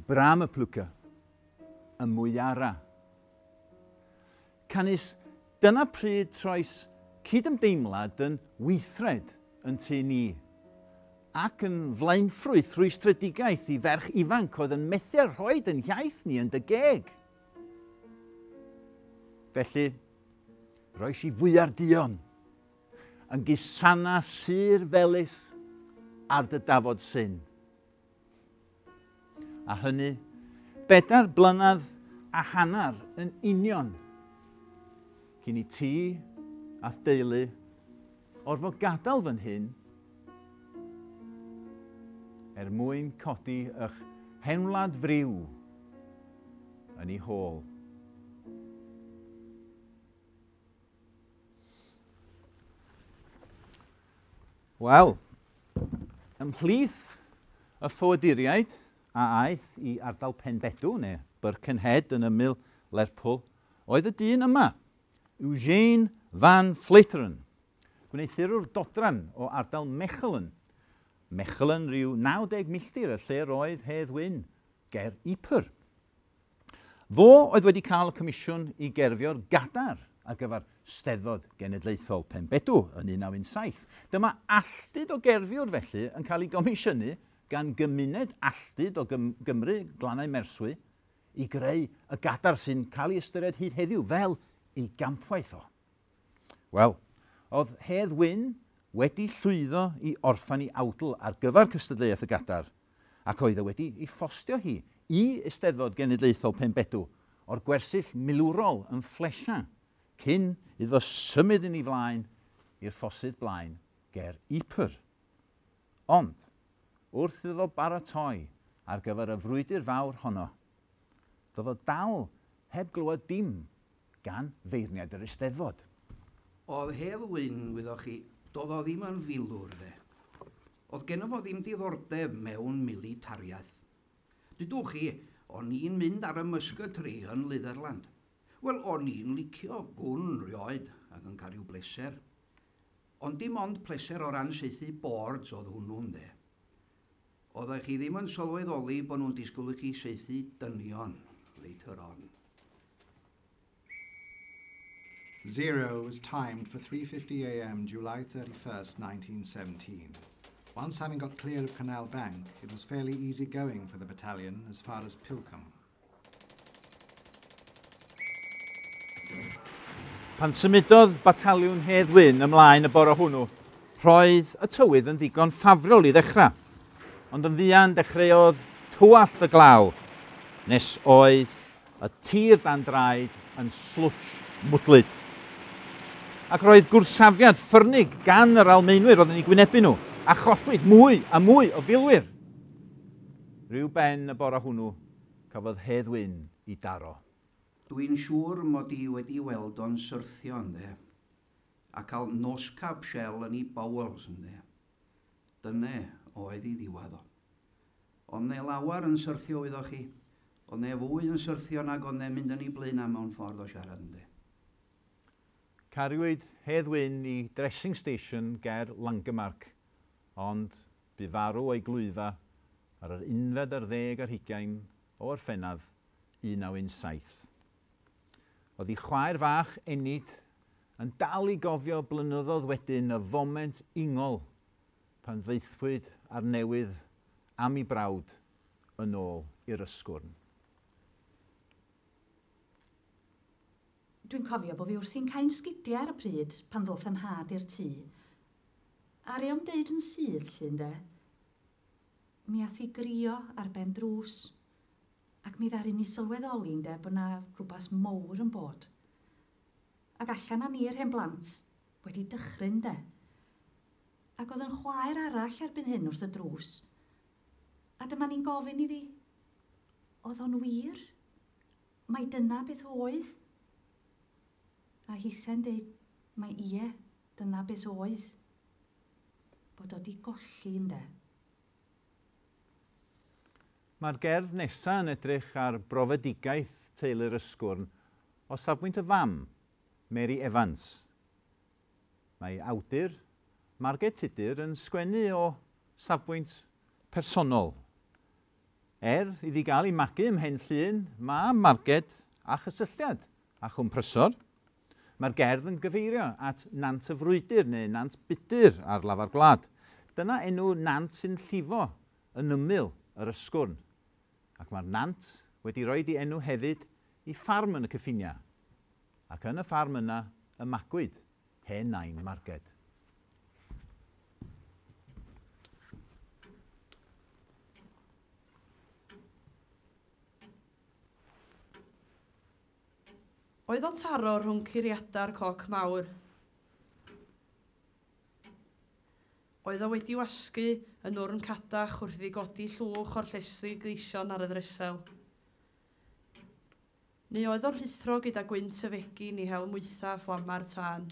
Bram y Plwca, y mwyara. Canys dyna pryd troes cydymdeimlad yn weithred yn tŷ ni, ac yn flaenffrwyth rwystredigaeth i ferch ifanc oedd yn methu â rhoid yn iaith ni yn dy geg. Felly, roes i fwyar duon, yn gusana sur felys ar dy dafod syn. A hynny, 4 blynedd a hanner yn union, cyn i ti a'th deulu orfod gadael fan hyn er mwyn codi eich henwlad friw yn ei hôl. Wel, ymhlith y ffoaduriaid a aeth i ardal Penbedw, neu Birkenhead yn ymyl Lerpwl, oedd y dyn yma, Eugene van Fleteren, gwneuthurwr dodran o ardal Mechelen. Mechelen rhyw 90 milltir y lle roedd Hedd Wyn ger Ypres. Fo oedd wedi cael y comisiwn i gerfio'r gadar ar gyfer Steddfod Genedlaethol Penbedw yn 1917. Dyma alltud o gerfiwr felly yn cael ei gomisiynu gan gymuned alltud o Gymru, Glannau Merswy, i greu y gadar sy'n cael ei ystyried hyd heddiw fel ei gampwaith o. Wel, oedd Hedd Wyn wedi llwyddo i orffen ei awdl ar gyfer cystadleuaeth y gadar, ac oedd e wedi ei ffostio hi i Eisteddfod Genedlaethol Penbedw o'r gwersyll milwrol yn Fflesian, cyn iddo symud yn ei flaen i'r ffosydd blaen ger Ypres. Ond, wrth iddo baratoi ar gyfer y frwydr fawr honno, doedd o dal heb glywed dim gan feirniad yr Eisteddfod. Oedd Hedd Wyn, wyddoch chi, doedd o ddim yn filwr, de. Oedd genno fo ddim diddordeb mewn militariaeth. Dydwch chi, o'n i'n mynd ar y musketry yn Litherland. Wel, o'n i'n licio gwn rioed ac yn cael rhyw bleser. Ond dim ond pleser o ran saethu boards oedd hwnnw'n de. Oeddech chi ddim yn sylweddoli bod nhw'n disgwyl i chi saethu dynion later on. 0 was timed for 3:50 a.m. July 31st, 1917. Once having got clear of Canal Bank, it was fairly easy going for the battalion as far as Pilcombe. Pan symudodd bataliwn Hedd Wyn ymlaen y bore hwnnw, roedd y tywydd yn ddigon ffafrol i ddechrau. Ond yn fuan dechreuodd tywallt y glaw, nes oedd y tir dan draed yn slwtsh mwdlyd. Ac roedd gwrsafiad ffyrnig gan yr Almaenwyr oedd yn eu gwynebu nhw. A chollwyd mwy a mwy o filwyr. Rhyw ben y bore hwnnw, cafodd Hedd Wyn i daro. Dwi'n siŵr mod i wedi weld o'n syrthio ynddo, a cael noscap shell yn ei bowels ynddo. Dyne oedd ei ddiwedd o. Ond ne lawer yn syrthio iddo chi, ond ne fwy yn syrthio nag ond ne mynd yn ei blaenau mewn ffordd o siarad ynddo. Cariwyd Hedd Wyn i dressing station ger Langemark, ond bu farw o'i glwyfa ar yr 21 o Orffennaf 1917. Oedd ei chwaer fach Enid yn dal i gofio blynyddoedd wedyn y foment ingol pan ddaethpwyd ar newydd am ei brawd yn ôl i'r Ysgwrn. Dwi'n cofio bod fi wrthi'n cael sgidiau ar y pryd pan ddoth yn nhad i'r tŷ. Aru o'm deud yn syth, llun de. Mi ath i grio ar ben drws. Ac mi ddaru ni sylweddoli ynde bod na rhywbeth mowr yn bod. Ac allan â ni'r hen blant wedi dychryn de. Ac oedd yn chwaer arall erbyn hyn wrth y drws. A dyma ni'n gofyn iddi, oedd o'n wir? Mai dyna beth oedd? A hithe'n deud, mae ie, dyna beth oedd. Bod o di golli ynde. Mae'r gerdd nesaf yn edrych ar brofedigaeth teulu'r Ysgwrn o safbwynt y fam, Mary Evans. Mae awdur Marged Tudur yn sgwennu o safbwynt personol. Iddi gael ei magu ym Mhen Llŷn, mae Marged â chysylltiad â Chwm Prysor. Mae'r gerdd yn gyfeirio at Nant y Frwydr neu Nant Budur ar lafar gwlad. Dyna enw nant sy'n llifo yn ymyl yr Ysgwrn. Ac mae'r nant wedi rhoi ei enw hefyd i ffarm yn y cyffiniau. Ac yn y ffarm yna y magwyd hen nain Marged. Oedd o'n taro rhwng curiadau'r cloc mawr. Oedd o wedi wasgu yn wrn cadach wrth iddi godi llwch o'r llestri gleision ar y ddresel. Neu oedd o'n rhuthro gyda gwynt y fegin i hel mwytha fflama'r tân.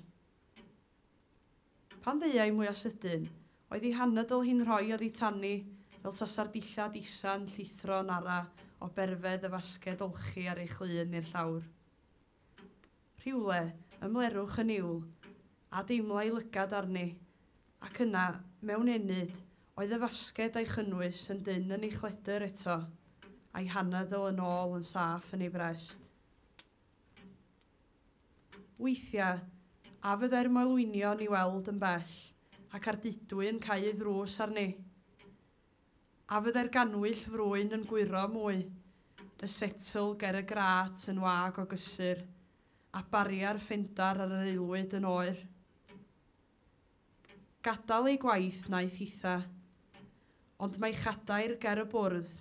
Pan ddeuai mwyaf sydyn, oedd ei hanadl hi'n rhoi oddi tani fel tasa'r dillad isa'n llithro'n ara o berfedd y fasged olchi ar ei chlun i'r llawr. Rhywle, ymlerwch yn niwl, a deimlai lygad arni, ac yna, mewn ennyd, oedd y fasged a'i chynnwys yn dynn yn ei chledr eto, a'i hanadl yn ôl yn saff yn ei brest. Weithiau, a fyddai'r moelwynion i weld yn bell, ac Ardudwy yn cau ei ddrws arni. A fyddai'r ganwyll frwyn yn gwyro mwy, y setl ger y grat yn wag o gysur, a baria'r ffendar ar yr aelwyd yn oer. Gadael ei gwaith naeth hitha, ond mae chadair ger y bwrdd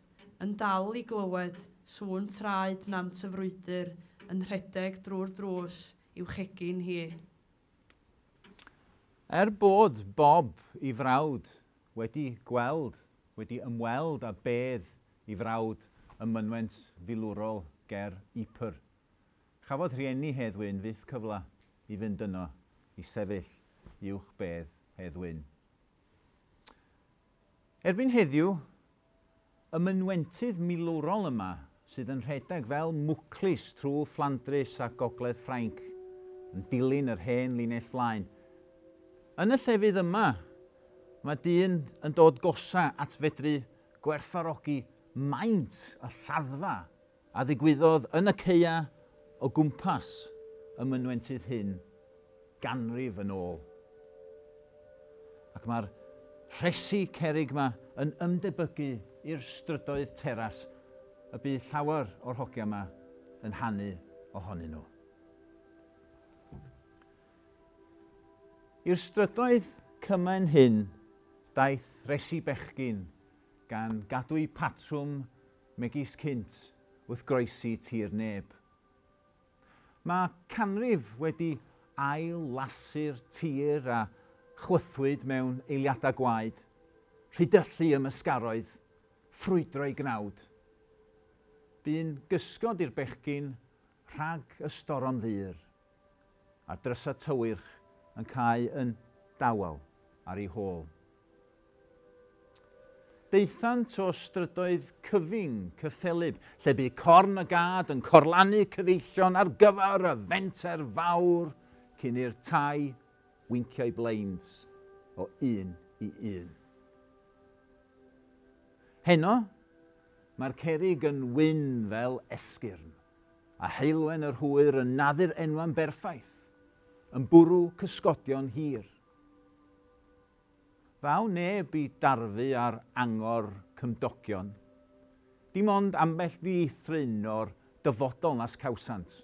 yn dal i glywed sŵn traed Nant y Frwydr yn rhedeg drwy'r drws i'w chegin hi. Er bod Bob i frawd wedi gweld, wedi ymweld â bedd i frawd ym mynwent filwrol ger Ypres, chafodd rhieni Hedd Wyn fyth cyfle i fynd yno i sefyll uwch bedd Hedd Wyn. Erbyn heddiw, y mynwentydd milwrol yma sydd yn rhedeg fel mwclis trwy Fflandrys a Gogledd Ffrainc yn dilyn yr hen linell flaen. Yn y llefydd yma, mae dyn yn dod gosa at fedru gwerthfawrogi maint y lladdfa a ddigwyddodd yn y caeau o gwmpas y mynwentydd hyn ganrif yn ôl. Ac mae'r rhesi cerrig yma yn ymdebygu i'r strydoedd teras y bydd llawer o'r hogia yma yn hanu ohonyn nhw. I'r strydoedd cymen hyn daeth resi bechgyn gan gadw'u patrwm megis cynt wrth groesi tir neb. Mae canrif wedi ail-lasu'r tir a Chwythwyd mewn eiliadau gwaed, rhydyllu ymysgaroedd, ffrwydro i gnawd. Bu'n gysgod i'r bechgyn rhag y storom ddur, a'r drysa tywyrch yn cau yn dawel ar ei hôl. Daethant o strydoedd cyfyng cyffelyb, lle bu corn y gad yn corlannu cyfeillion ar gyfer y fenter fawr cyn i'r tai wincio'i blinds o un i un. Heno, mae'r cerrig yn wyn fel esgyrn, a heulwen yr hwyr yn naddu'r enwa'n berffaith, yn bwrw cysgodion hir. Ddaw neb i darfu ar angor cymdogion. Dim ond ambell ddieithryn o'r dyfodol nas cawsant.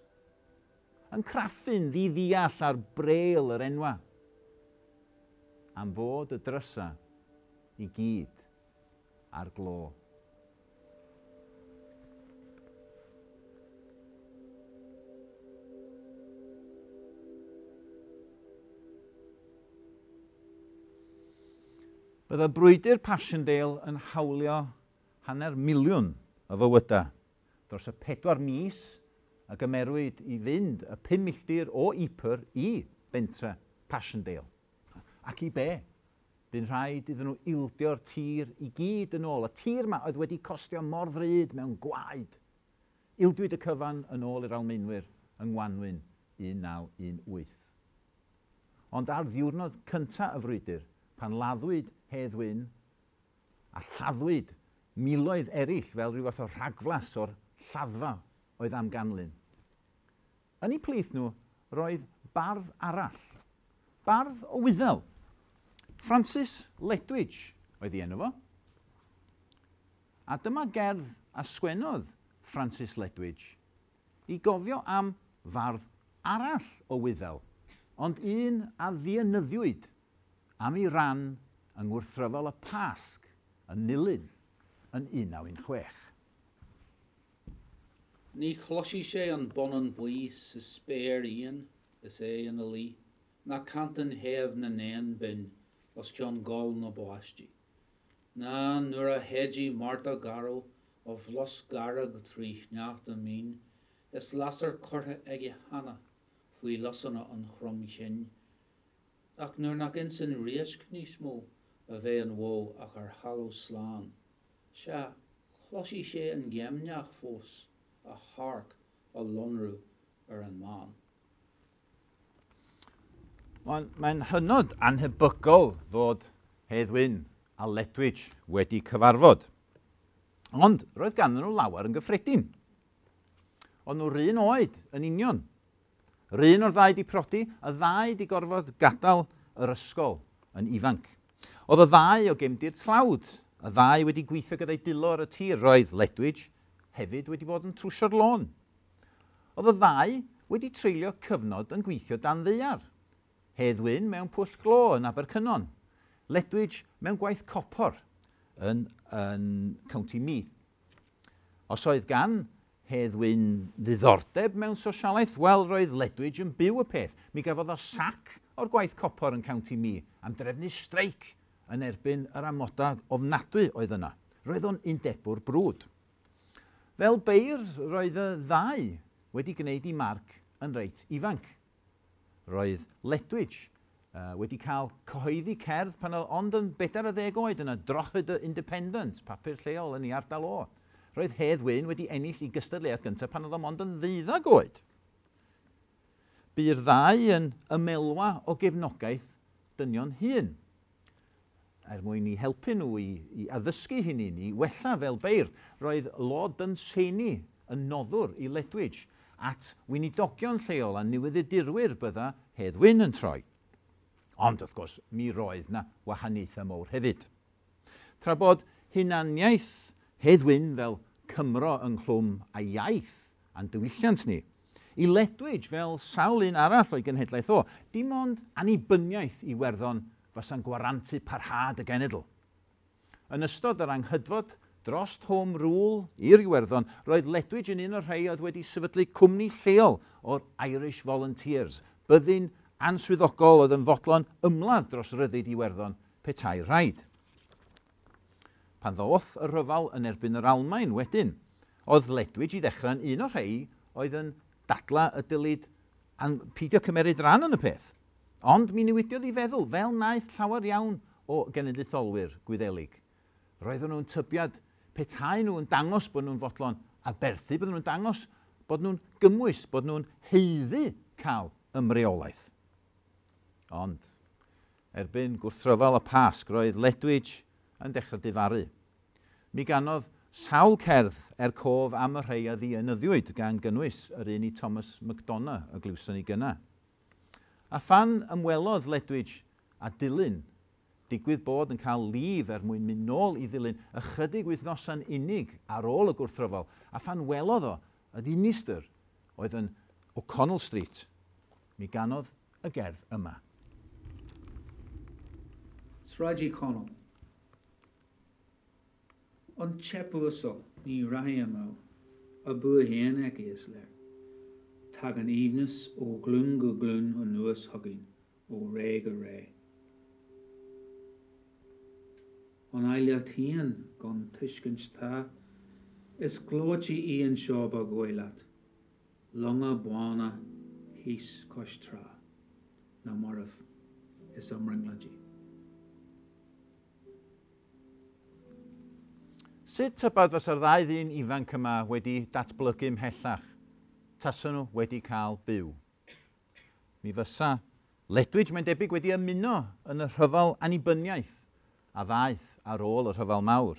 Yn craffu'n ddiddiall ar brêl yr enwa. Am fod y drysa i gyd ar glo. Bydda brwydr Passchendaele yn hawlio 500,000 o fywydau dros y 4 mis a gymerwyd i fynd y 5 milltir o Ypres i bentre Passchendaele. Ac i be? Bu'n rhaid iddyn nhw ildio'r tir i gyd yn ôl. Y tir yma oedd wedi costio mor ddrud mewn gwaed. Ildiwyd y cyfan yn ôl i'r Almaenwyr yng Ngwanwyn 1918. Ond ar ddiwrnod cyntaf y frwydr, pan laddwyd Hedd Wyn a lladdwyd miloedd eraill fel rhyw fath o rhagflas o'r lladdfa oedd am ganlyn. Yn eu plith nhw roedd bardd arall, bardd o Wyddel, Francis Ledwidge oedd ei enw fo. A dyma gerdd a sgwennodd Francis Ledwidge i gofio am fardd arall o Wyddel, ond un a ddienyddiwyd am ei ran yng ngwrthryfel y Pasg yn Nulyn yn 1916. Ní chloisfidh sé an bonnán buí sa spéir íon is é ina luí, ná cantain shéimh na n-éan binn os cionn gol na báistí, ná nuair a shéidfidh Márta garbh a bhlosc dearg trí shneachta mín is lasair curtha aige cheana faoi lusanna an chromchinn. Ach nuair nach ins an riasc níos mó a bheidh an bhó ach ar thalamh slán, sea, cloisfidh sé an géimneach fós, a shearc á lonrú ar an mbán. Mae'n hynod anhebygol fod Hedd Wyn a Ledwidge wedi cyfarfod. Ond roedd ganddyn nhw lawer yn gyffredin. Ond nhw'r un oed yn union. R'un o'r ddau di prodi, y ddau di gorfod gadael yr ysgol yn ifanc. Oedd y ddau o gefndir tlawd, y ddau wedi gweithio gyda'i dwylo ar y tir. Roedd Ledwidge hefyd wedi bod yn trwsio'r lôn. Oedd y ddau wedi treulio cyfnod yn gweithio dan ddaear. Hedd Wyn mewn pwll glo yn Abercynon. Ledwidge mewn gwaith copor yn County Meath. Os oedd gan Hedd Wyn ddiddordeb mewn sosialaeth, wel, roedd Ledwidge yn byw y peth. Mi gafodd o sac o'r gwaith copor yn County Meath am drefnu streic yn erbyn yr amodau ofnadwy oedd yna. Roedd o'n undebwr brwd. Fel beirdd, roedd y ddau wedi gwneud i marc yn reit ifanc. Roedd Ledwidge wedi cael cyhoeddi cerdd pan oedd ond yn 40 oed yn y Drogheda Independent, papur lleol yn ei ardal o. Roedd Hedd Wyn wedi ennill ei gystadleuaeth gyntaf pan oedd o mond yn 12 oed. Bu'r ddau yn ymelwa o gefnogaeth dynion hŷn, er mwyn i helpu nhw i addysgu hynny, i wella fel beirdd. Roedd Lord Dunsany yn noddwr i Ledwidge at weinidogion lleol a newyddiadurwyr bydda Hedd Wyn yn troi. Ond, wrth gwrs, mi roedd na wahaniaethau mawr hefyd. Tra bod hunaniaeth Hedd Wyn fel Cymro ynghlwm a iaith a'n diwylliant ni, i Ledwidge fel sawl un arall o'i genhedlaeth o, dim ond annibyniaeth Iwerddon fasa'n gwarantu parhad y genedl. Yn ystod yr anghydfod dros Home Rule i'r Iwerddon, roedd Ledwidge yn un o'r rhai oedd wedi sefydlu cwmni lleol o'r Irish Volunteers, byddin answyddogol oedd yn fodlon ymladd dros ryddid Iwerddon petai rhaid. Pan ddoth y rhyfel yn erbyn yr Almaen wedyn, oedd Ledwidge i ddechrau'n un o'r rhai oedd yn dadla y dylid peidio cymeryd rhan yn y peth. Ond mi newidiodd ei feddwl, fel wnaeth llawer iawn o genedlaetholwyr Gwyddelig. Roedden nhw'n tybiad petai nhw yn dangos bod nhw'n fodlon aberthu, bydden nhw'n dangos bod nhw'n gymwys, bod nhw'n haeddu cael ymreolaeth. Ond, erbyn gwrthryfel y Pasg, roedd Ledwidge yn dechrau difaru. Mi ganodd sawl cerdd er cof am y rhai a ddienyddiwyd gan gynnwys yr un i Thomas MacDonagh y glywson ni gynna. A phan ymwelodd Ledwidge a Dulyn, digwydd bod yn cael lif er mwyn mynd nôl i Ddulyn ychydig wythnosau'n unig ar ôl y gwrthryfel, a phan welodd o y ddinistr oedd yn O'Connell Street, mi ganodd y gerdd yma. Sráid Uí Chonaill. An teip uasal, ní rachaidh amú, a bua féin aici, is léir. Tagann aoibhneas ó ghlúin go glúin anuas chugainn, ó ré go ré. An áilleacht féin gan tuiscint tá, is gleoite í anseo ba dhóigh leat, longa bána thíos cois trá, na mairbh is a mbrionglóidí. Sut tybed fysa'r ddau ddyn ifanc yma wedi datblygu ymhellach tasen nhw wedi cael byw? Mi fysa Ledwidge, mae'n debyg, wedi ymuno yn y rhyfel annibyniaeth a ddaeth ar ôl y Rhyfel Mawr.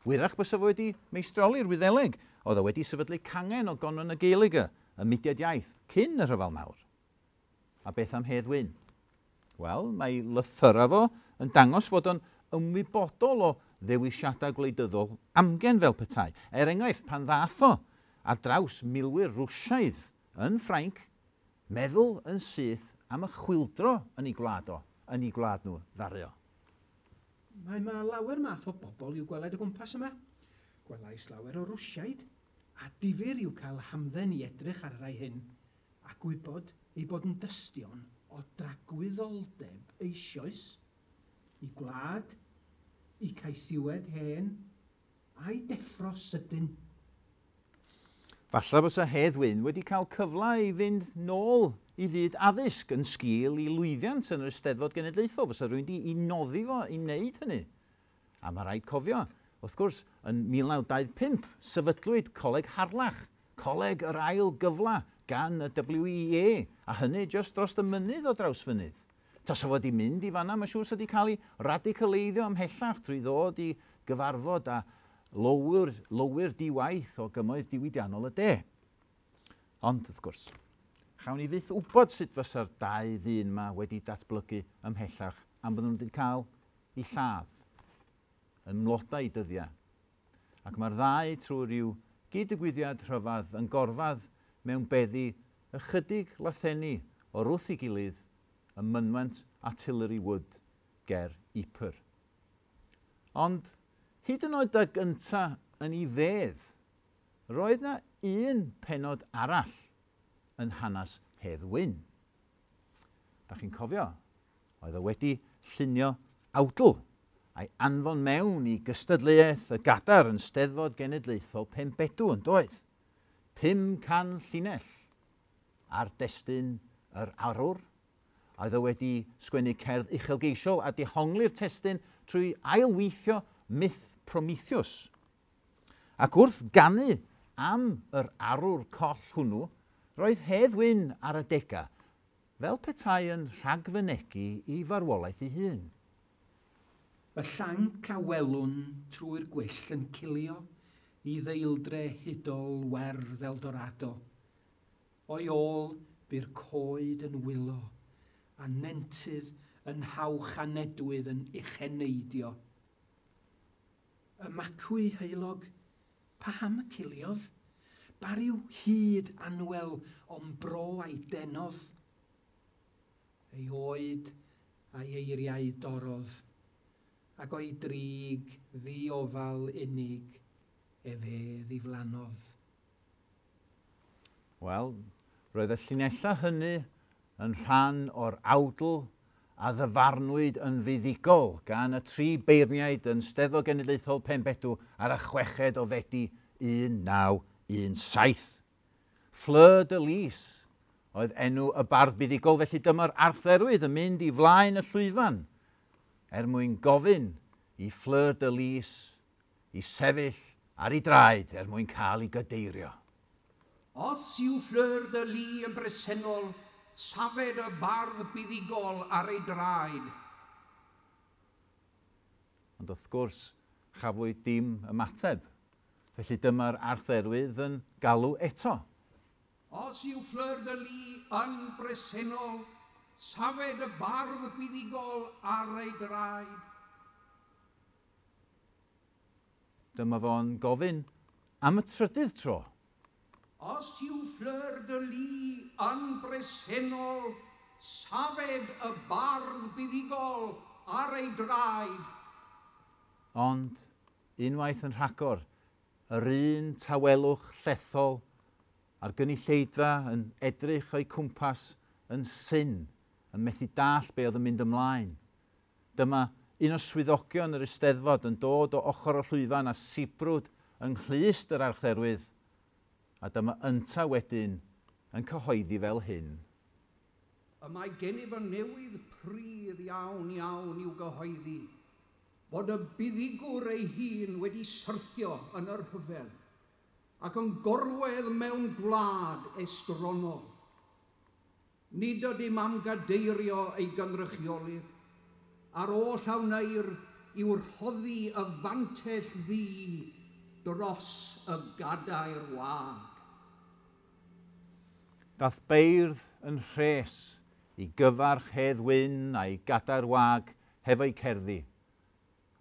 Wyrach bysa fo wedi meistroli'r Wyddeleg, oedd o wedi sefydlu cangen o Gonran na Gaeilge, y mudiad iaith, cyn y Rhyfel Mawr. A beth am Hedd Wyn? Wel, mae lythyra fo yn dangos fod o'n ymwybodol o ddewisiadau gwleidyddol amgen fel petai. Er enghraifft, pan ddath o ar draws milwyr Rwsiaidd yn Ffrainc, meddwl yn syth am y chwyldro yn ei gwlad o, yn ei gwlad nhw, ddaru o. Mae 'ma lawer math o bobl i'w gweled o gwmpas yma. Gwelais lawer o Rwsiaid, a difyr yw cael hamdden i edrych ar y rhai hyn, a gwybod eu bod yn dystion o dragwyddoldeb eisioes, i gwlad, i caethiwed hen, a'i deffro sydyn. Falla bysa Hedd Wyn wedi cael cyfle i fynd nôl i fyd addysg yn sgil i lwyddiant yn yr Eisteddfod Genedlaethol, fysa rhywun di i noddi fo i wneud hynny. A mae rhaid cofio, wrth gwrs, yn 1925, sefydlwyd Coleg Harlech, Coleg yr Ail Gyfle, gan y WEA, a hynny jyst dros y mynydd o Drawsfynydd. Tasa fo wedi mynd i fanna, mae'n siŵr sa wedi cael ei radicaleiddio ymhellach trwy ddod i gyfarfod â lowyr, lowyr di-waith o gymoedd diwydiannol y de. Ond, wrth gwrs, chawn ni fyth wybod sut fysa'r dau ddyn yma wedi datblygu ymhellach am bod nhw wedi cael eu lladd yn mlodau dyddiau. Ac mae'r ddau trwy ryw gyd-ddigwyddiad rhyfedd yn gorfedd mewn beddi ychydig lathenni o'r wrth ei gilydd ym mynwent Artillery Wood ger Ypres. Ond hyd yn oed ag ynta yn ei fedd, roedd 'na un pennod arall yn hanes Hedd Wyn. Da chi'n cofio, oedd o wedi llunio awdl a'i anfon mewn i gystadleuaeth y Gadar yn Steddfod Genedlaethol Penbedw yn doedd? 500 llinell ar destun yr arwr, a oedd o wedi sgwennu cerdd uchelgeisiol a dehongli'r testun trwy ailweithio myth Prometheus. Ac wrth ganu am yr arwr coll hwnnw, roedd Hedd Wyn ar adegau fel petai yn rhagfynegi i farwolaeth ei hun. Y llanc a welwn trwy'r gwyll yn cilio i ddeildre hudol werdd Eldorado. O'i ôl bu'r coed yn wylo, a nentydd yn hawch a nedwydd yn ucheneidio. Y macwy heulog, paham y ciliodd? Ba ryw hud anwel o'm bro a'i denodd? Ei oed a'i eiriau dorrodd, ac o'i drig ddiofal unig efe ddiflannodd. Wel, roedd y llinellau hynny yn rhan o'r awdl a ddyfarnwyd yn fuddugol gan y tri beirniaid yn Steddfod Genedlaethol Penbedw ar y 6 o Fedi 1917. Fleur de Lis oedd enw y bardd buddugol, felly dyma'r archdderwydd yn mynd i flaen y llwyfan er mwyn gofyn i Fleur de Lis i sefyll ar ei draed er mwyn cael ei gadeirio. Os yw Fleur de Lis yn bresennol, safed y bardd buddugol ar ei draed. Ond wrth gwrs, chafwyd dim ymateb. Felly dyma'r archdderwydd yn galw eto. Os yw Fleur de Lis yn bresennol, safed y bardd buddugol ar ei draed. Dyma fo'n gofyn am y trydydd tro. Os yw Fleur de Lis yn bresennol, safed y bardd buddugol ar ei draed. Ond, unwaith yn rhagor, yr un tawelwch llethol a'r gynulleidfa yn edrych o'i cwmpas yn syn, yn methu dall be oedd yn mynd ymlaen. Dyma un o swyddogion yr Eisteddfod yn dod o ochr y llwyfan a sibrwd yng nghlust yr archdderwydd, a dyma ynta wedyn yn cyhoeddi fel hyn. Y mae gennyf y newydd prudd iawn iawn i'w gyhoeddi, bod y buddugwr ei hun wedi syrthio yn yr rhyfel ac yn gorwedd mewn gwlad estronol. Nid ydym am gadeirio ei gynrychiolydd, a'r oll a wneir yw rhoddi y fantell ddu dros y gadair wag. Dath beirdd yn rhes i gyfarch Hedd Wyn a'i gadair wag hefo'i cerddi.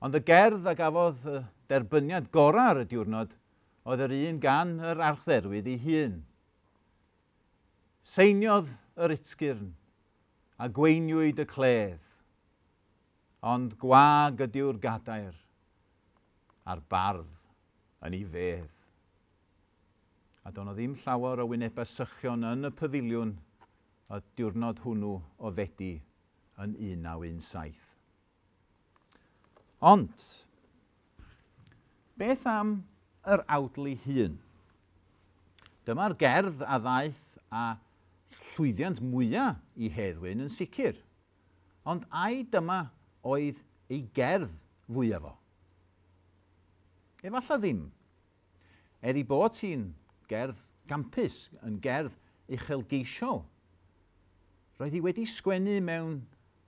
Ond y gerdd a gafodd y derbyniad gorau ar y diwrnod oedd yr un gan yr archdderwydd ei hun. Seiniodd yr utgyrn a gweiniwyd y cledd, ond gwag ydyw'r gadair a'r bardd yn ei fedd. A doedd 'na ddim llawer o wynebau sychion yn y pafiliwn y diwrnod hwnnw o Fedi yn 1917. Ond, beth am yr awdl ei hun? Dyma'r gerdd a ddaeth a llwyddiant mwyaf i Hedd Wyn yn sicr. Ond ai dyma oedd ei gerdd fwyaf o? Efallai ddim. Er ei bod hi'n gerdd gampus, yn gerdd uchelgeisiol, roedd hi wedi sgwennu mewn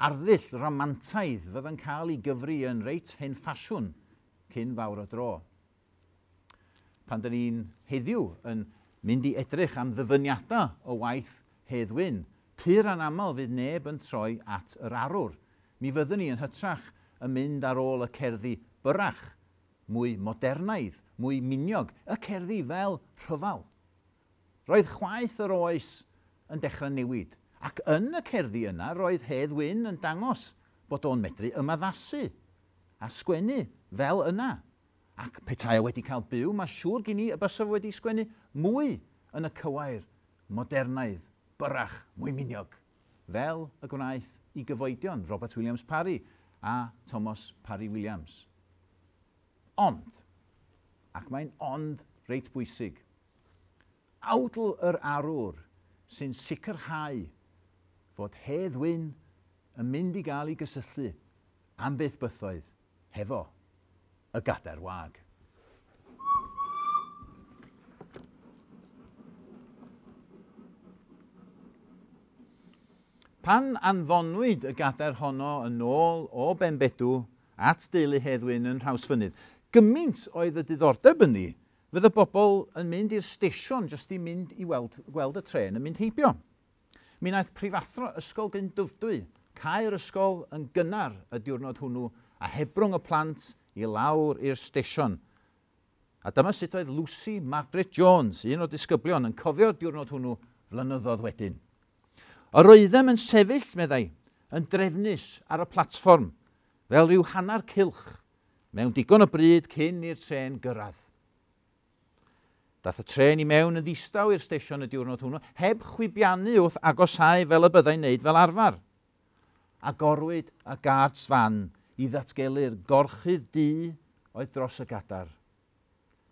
arddull ramantaidd fydd yn cael ei gyfri yn reit hen ffasiwn cyn fawr o dro. Pan dyn ni'n heddiw yn mynd i edrych am ddyfyniadau o waith Hedd Wyn, pur anaml fydd neb yn troi at yr arwr. Mi fyddwn ni yn hytrach yn mynd ar ôl y cerddi byrrach, mwy modernaidd, mwy miniog, y cerddi fel rhyfel. Roedd chwaeth yr oes yn dechrau newid, ac yn y cerddi yna roedd Hedd Wyn yn dangos bod o'n medru ymaddasu a sgwennu fel yna. Ac petai o wedi cael byw, mae siŵr gen i y bysa fo wedi sgwennu mwy yn y cywair modernaidd, byrrach, mwy miniog, fel y gwnaeth i gyfoedion Robert Williams Parry a Thomas Parry Williams. Ond, ac mae'n ond reit bwysig, awdl yr arwr sy'n sicrhau fod Hedd Wyn yn mynd i gael ei gysylltu am byth bythoedd hefo y gadair wag. Pan anfonwyd y gadair honno yn ôl o Benbedw at deulu Hedd Wyn yn Nhrawsfynydd, gymaint oedd y diddordeb ynddi, fydd y bobl yn mynd i'r stesion jyst i mynd i weld, gweld y tren yn mynd heibio. Mi wnaeth prifathro Ysgol Glynddyfrdwy cau'r ysgol yn gynnar y diwrnod hwnnw a hebrwng y plant i lawr i'r stesion. A dyma sut oedd Lucy Margaret Jones, un o'r disgyblion, yn cofio'r diwrnod hwnnw flynyddoedd wedyn. Yr oeddem yn sefyll, meddai, yn drefnus ar y platfform, fel rhyw hanner cylch, mewn digon o bryd cyn i'r trên gyrraedd. Dath y tren i mewn yn ddistaw i'r stesion y diwrnod hwnnw, heb chwibiannu wrth agosáu fel y byddai'n neud fel arfer. Agorwyd y guards fan i ddatgelu'r gorchudd du oedd dros y gadar.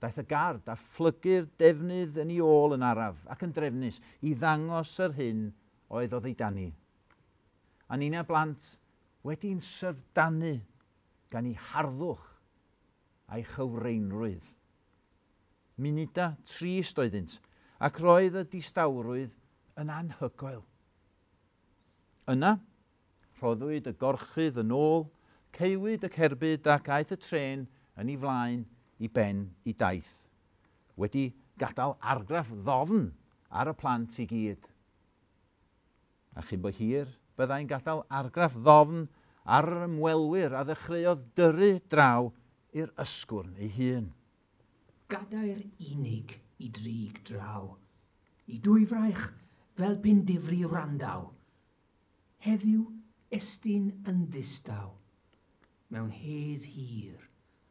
Daeth y gard a phlygu'r defnydd yn ei ôl yn araf ac yn drefnus i ddangos yr hyn oedd oddi dani. A ninnau blant wedi'n syfrdanu gan ei harddwch a'i chywreinrwydd. Munudau trist oeddynt, ac roedd y distawrwydd yn anhygoel. Yna, rhoddwyd y gorchudd yn ôl, caewyd y cerbyd ac aeth y trên yn ei flaen i ben i daith, wedi gadael argraff ddofn ar y plant i gyd. A chyn bo hir, byddai'n gadael argraff ddofn ar yr ymwelwyr a ddechreuodd dyrru draw i'r Ysgwrn ei hun. Gadair unig i drig draw, i dwyfraich fel pe'n difri wrandaw. Heddiw estyn yn ddistaw, mewn hedd hir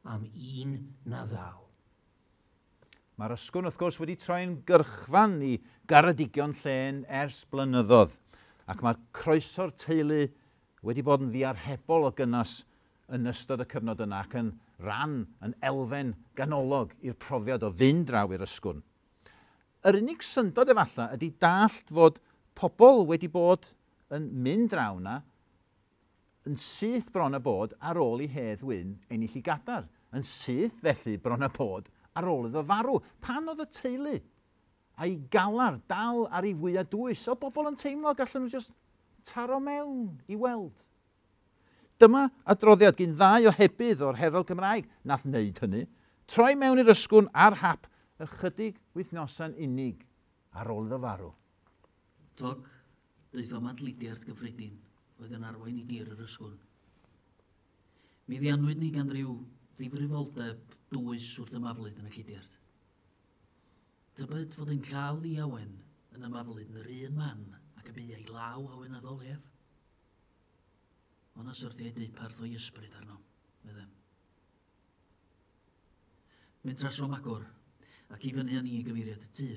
am un na ddaw. Mae'r Ysgwrn, wrth gwrs, wedi troi'n gyrchfan i garedigion llên ers blynyddoedd, ac mae'r croeso'r teulu wedi bod yn ddiarhebol o gynnes yn ystod y cyfnod yna ac yn ran, yn elfen ganolog i'r profiad o fynd draw i'r Ysgwrn. Yr unig syndod efallai ydy dallt fod pobl wedi bod yn mynd draw yna yn syth bron a bod ar ôl i Hedd Wyn ennill i gadar. Yn syth felly bron a bod ar ôl iddo farw. Pan oedd y teulu a'i galar dal ar ei fwyaf dwys, o bobl yn teimlo gallen nhw just taro mewn i weld. Dyma adroddiad gyn ddau ohebydd o'r Herald Cymraeg nath wneud hynny, troi mewn i'r Ysgwrn ar hap ychydig wythnosau'n unig ar ôl iddo farw. Toc, daethom at lidiart gyffredin oedd yn arwain i dir yr Ysgwrn. Mi ddianwyd ni gan ryw ddifrifoldeb dwys wrth ymaflyd yn y llidiart. Tybed fod ein llaw ddiawen yn ymaflyd yn yr un man ac y bu ei law awenyddol ef? Ond na syrthiai deuparth o'i ysbryd arno, meddem. Mynd trasom agor ac i fyny â ni i gyfeiriad y tŷ.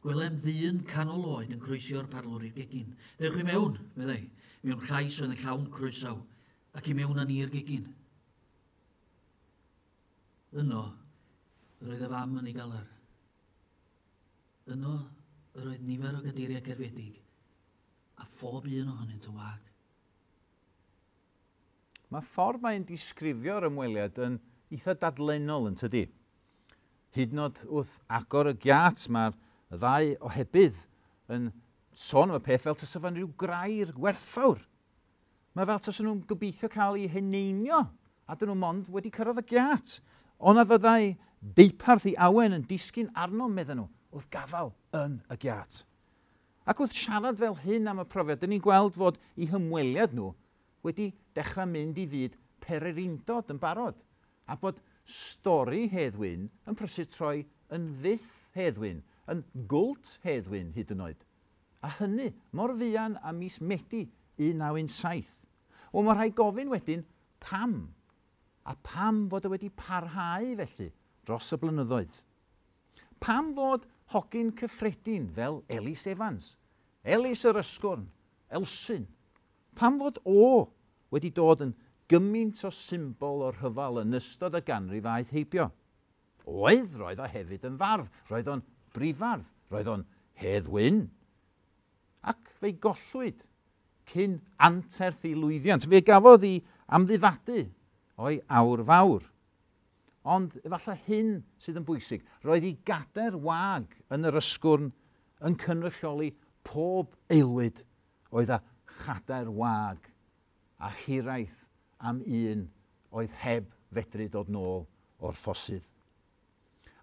Gwelem ddyn canol oed yn croesio'r parlwr i'r gegin. Dewch i mewn, meddai, mewn llais oedd yn llawn croesaw, ac i mewn â ni i'r gegin. Yno, yr oedd y fam yn ei galar. Yno, yr oedd nifer o gadeiriau cerfiedig, a phob un ohonynt yn wag. Mae ffordd mae'n disgrifio'r ymweliad yn eitha dadlennol yn tydi. Hyd yn oed wrth agor y giât, mae'r ddau ohebydd yn sôn am y peth fel tasa fo'n rhyw grair gwerthfawr. Mae fel tasa nhw'n gobeithio cael eu heneinio, a dyn nhw mond wedi cyrraedd y giât. Ond na fyddai deuparth i awen yn disgyn arno, medden nhw, wrth gafael yn y giât. Ac wrth siarad fel hyn am y profiad, dyn ni'n gweld fod eu hymweliad nhw wedi dechrau mynd i fyd pererindod yn barod, a bod stori Hedd Wyn yn prysur troi yn fyth Hedd Wyn, yn gwlt Hedd Wyn hyd yn oed. A hynny mor fuan â mis Medi 1917. Wel, mae rhaid gofyn wedyn pam, a pam fod o wedi parhau felly dros y blynyddoedd. Pam fod hogyn cyffredin fel Ellis Evans, Ellis yr Ysgwrn, Elsin, pam fod o wedi dod yn gymaint o symbol o'r rhyfel yn ystod y ganrif aeth heibio? Oedd, roedd o hefyd yn fardd, roedd o'n brifardd, roedd o'n Hedd Wyn. Ac fe'i gollwyd cyn anterth ei lwyddiant. Fe gafodd ei amddifadu o'i awr fawr. Ond efallai hyn sydd yn bwysig. Roedd ei gader wag yn yr Ysgwrn yn cynrychioli pob aelwyd oedd â chadair wag a hiraeth am un oedd heb fedru dod nôl o'r ffosydd.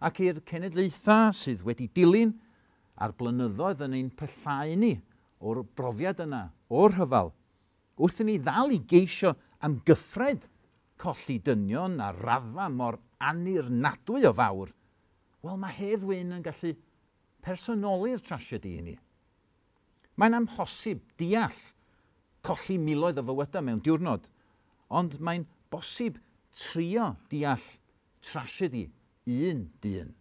Ac i'r cenedlaethau sydd wedi dilyn a'r blynyddoedd yn ein pyllau ni o'r brofiad yna, o'r rhyfel, wrth i ni ddal i geisio amgyffred colli dynion a raddfa mor annirnadwy o fawr, wel mae Hedd Wyn yn gallu personoli'r trasiedi i ni. Mae'n amhosib deall colli miloedd o fywydau mewn diwrnod, ond mae'n bosib trio deall trasiedi un dyn.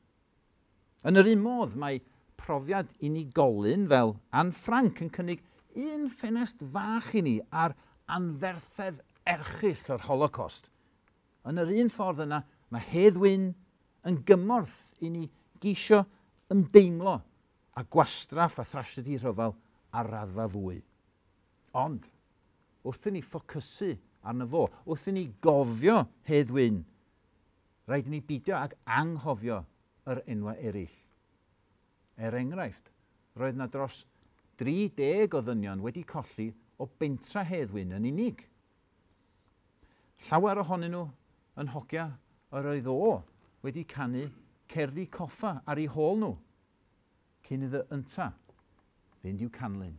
Yn yr un modd, mae profiad unigolyn fel Anne Frank yn cynnig un ffenest fach i ni ar anferthedd erchyll o'r Holocaust. Yn yr un ffordd yna, mae Hedd Wyn yn gymorth i ni geisio ymdeimlo a gwastraff a thrasiedi rhyfel ar raddfa fwy. Ond, wrth i ni ffocysu arno fo, wrth i ni gofio Hedd Wyn, rhaid i ni beidio ag anghofio yr enwau eraill. Er enghraifft, roedd na dros 30 o ddynion wedi colli o bentra Hedd Wyn yn unig. Llawer ohonyn nhw yn hogia yr oedd o wedi canu cerddi coffa ar eu hôl nhw, cyn iddo ynta fynd i'w canlyn.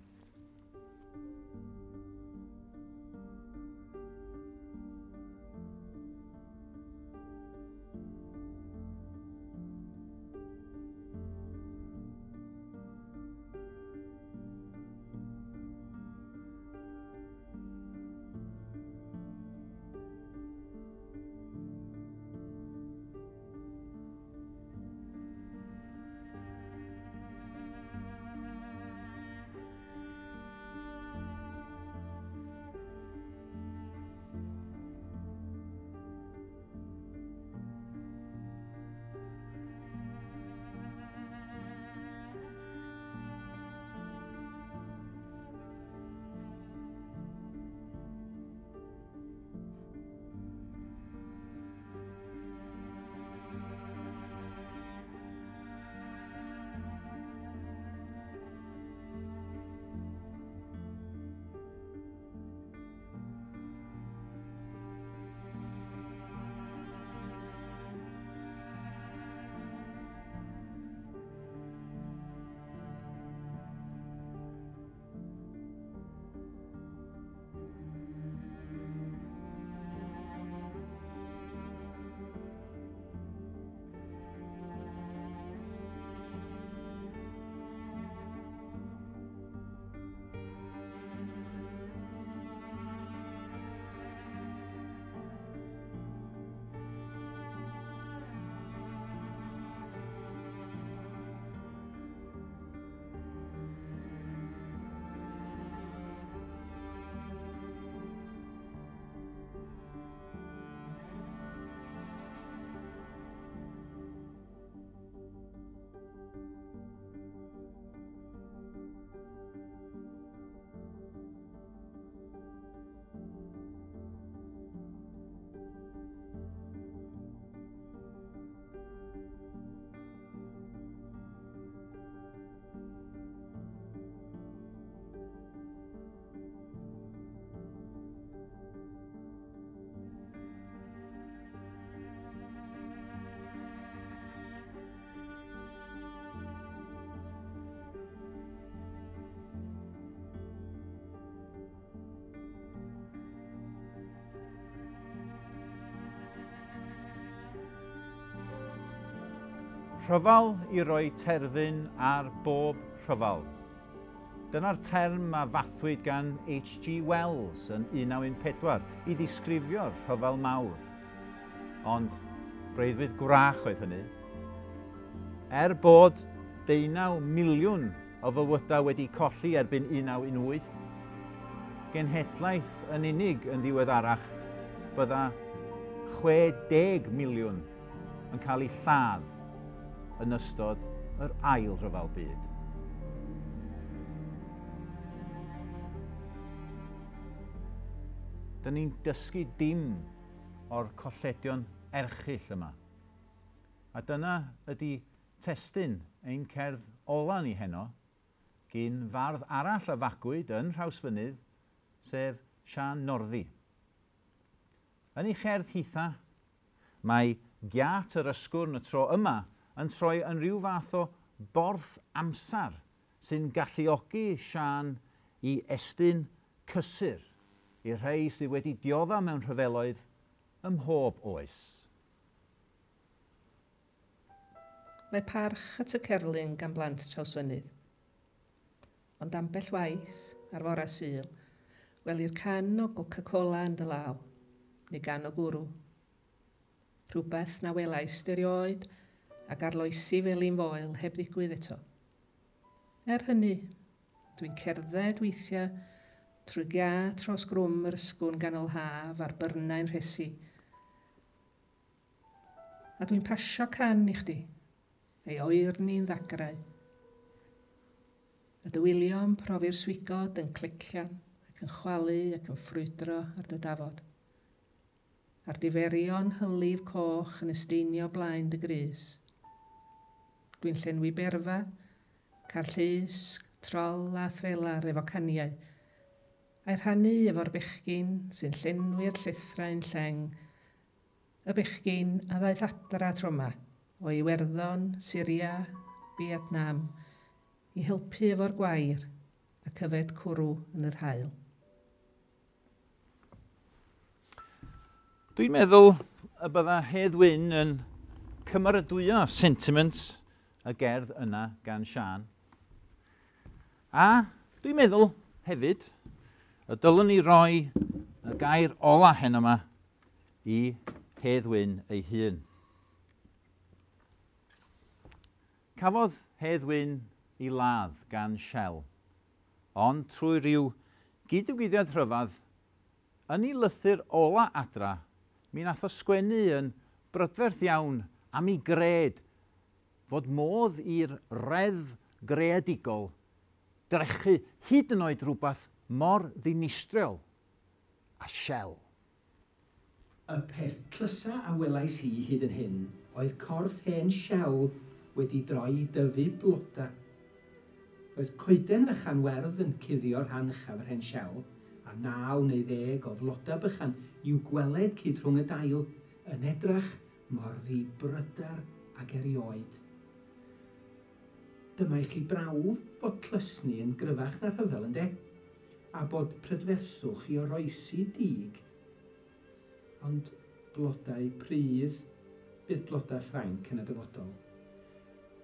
Rhyfel i roi terfyn ar bob rhyfel. Dyna'r term a fathwyd gan H.G. Wells yn 1914 i ddisgrifio'r rhyfel mawr. Ond breuddwyd gwrach oedd hynny. Er bod 19 miliwn o fywydau wedi colli erbyn 1918, genhedlaeth yn unig yn ddiweddarach bydda 60 miliwn yn cael eu lladd yn ystod yr ail rhyfel byd. Dyn ni'n dysgu dim o'r colledion erchyll yma. A dyna ydy testun ein cerdd ola ni heno, gyn fardd arall a fagwyd yn Nhrawsfynydd, sef Siân Northey. Yn ei cherdd hitha, mae giât yr Ysgwrn y tro yma yn troi yn rhyw fath o borth amser sy'n galluogi Siân i estyn cysur i'r rhai sydd wedi diodda mewn rhyfeloedd ym mhob oes. Mae parch at y cerflun gan blant Trawsfynydd. Ond ambell waith, ar fore Sul, welir can o Coca-Cola yn dy law, neu gan o gwrw. Rhywbeth na welais erioed ac arloesi felin foel heb ddigwydd eto. Er hynny, dwi'n cerdded weithiau trwy gia tros grwm yr ysgwn ganol haf a'r byrnau'n rhesi. A dwi'n pasio can i chdi, ei oerni'n ddagrau. Y dywilion profi'r swigod yn clecian ac yn chwalu ac yn ffrwydro ar dy dafod. A'r diferion hylif coch yn ysteinio blaen dy grys. Dwi'n llenwi berfa, carllus, trol a threlar efo caniau, a'i rhannu efo'r bechgyn sy'n llenwi'r llethrau'n lleng, y bechgyn a ddaeth adra tro 'ma, o Iwerddon, Syria, Vietnam, i helpu efo'r gwair ac yfed cwrw yn yr haul. Dwi'n meddwl y bydda Hedd Wyn yn cymeradwyo sentiment y gerdd yna gan Siân. A dwi'n meddwl hefyd y dylwn ni roi y gair ola heno yma i Hedd Wyn ei hun. Cafodd Hedd Wyn ei ladd gan Shell, ond trwy ryw gyd-ddigwyddiad rhyfedd, yn ei lythyr ola adra, mi nath o sgwennu yn brydferth iawn am ei gred fod modd i'r reddf greadigol drechu hyd yn oed rhywbeth mor ddinistriol a Shell. Y peth tlysa a welais hi hyd yn hyn oedd corff hen Shell wedi droi i dyfu bloda. Roedd coeden fechan werdd yn cuddio rhan uchaf yr hen Shell, a naw neu ddeg o floda bychan i'w gweled cyd rhwng y dail, yn edrach mor ddi-bryder ag erioed. Dyma i chi brawf fod tlysni yn gryfach na rhyfel, ynde? A bod prydferthwch i oroesi dig. Ond blodau pridd bydd blodau Ffrainc yn y dyfodol,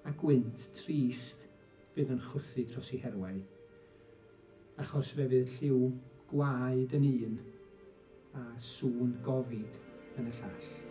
a gwynt trist fydd yn chwythu tros i herwau, achos fe fydd lliw gwaed yn un a sŵn gofid yn y llall.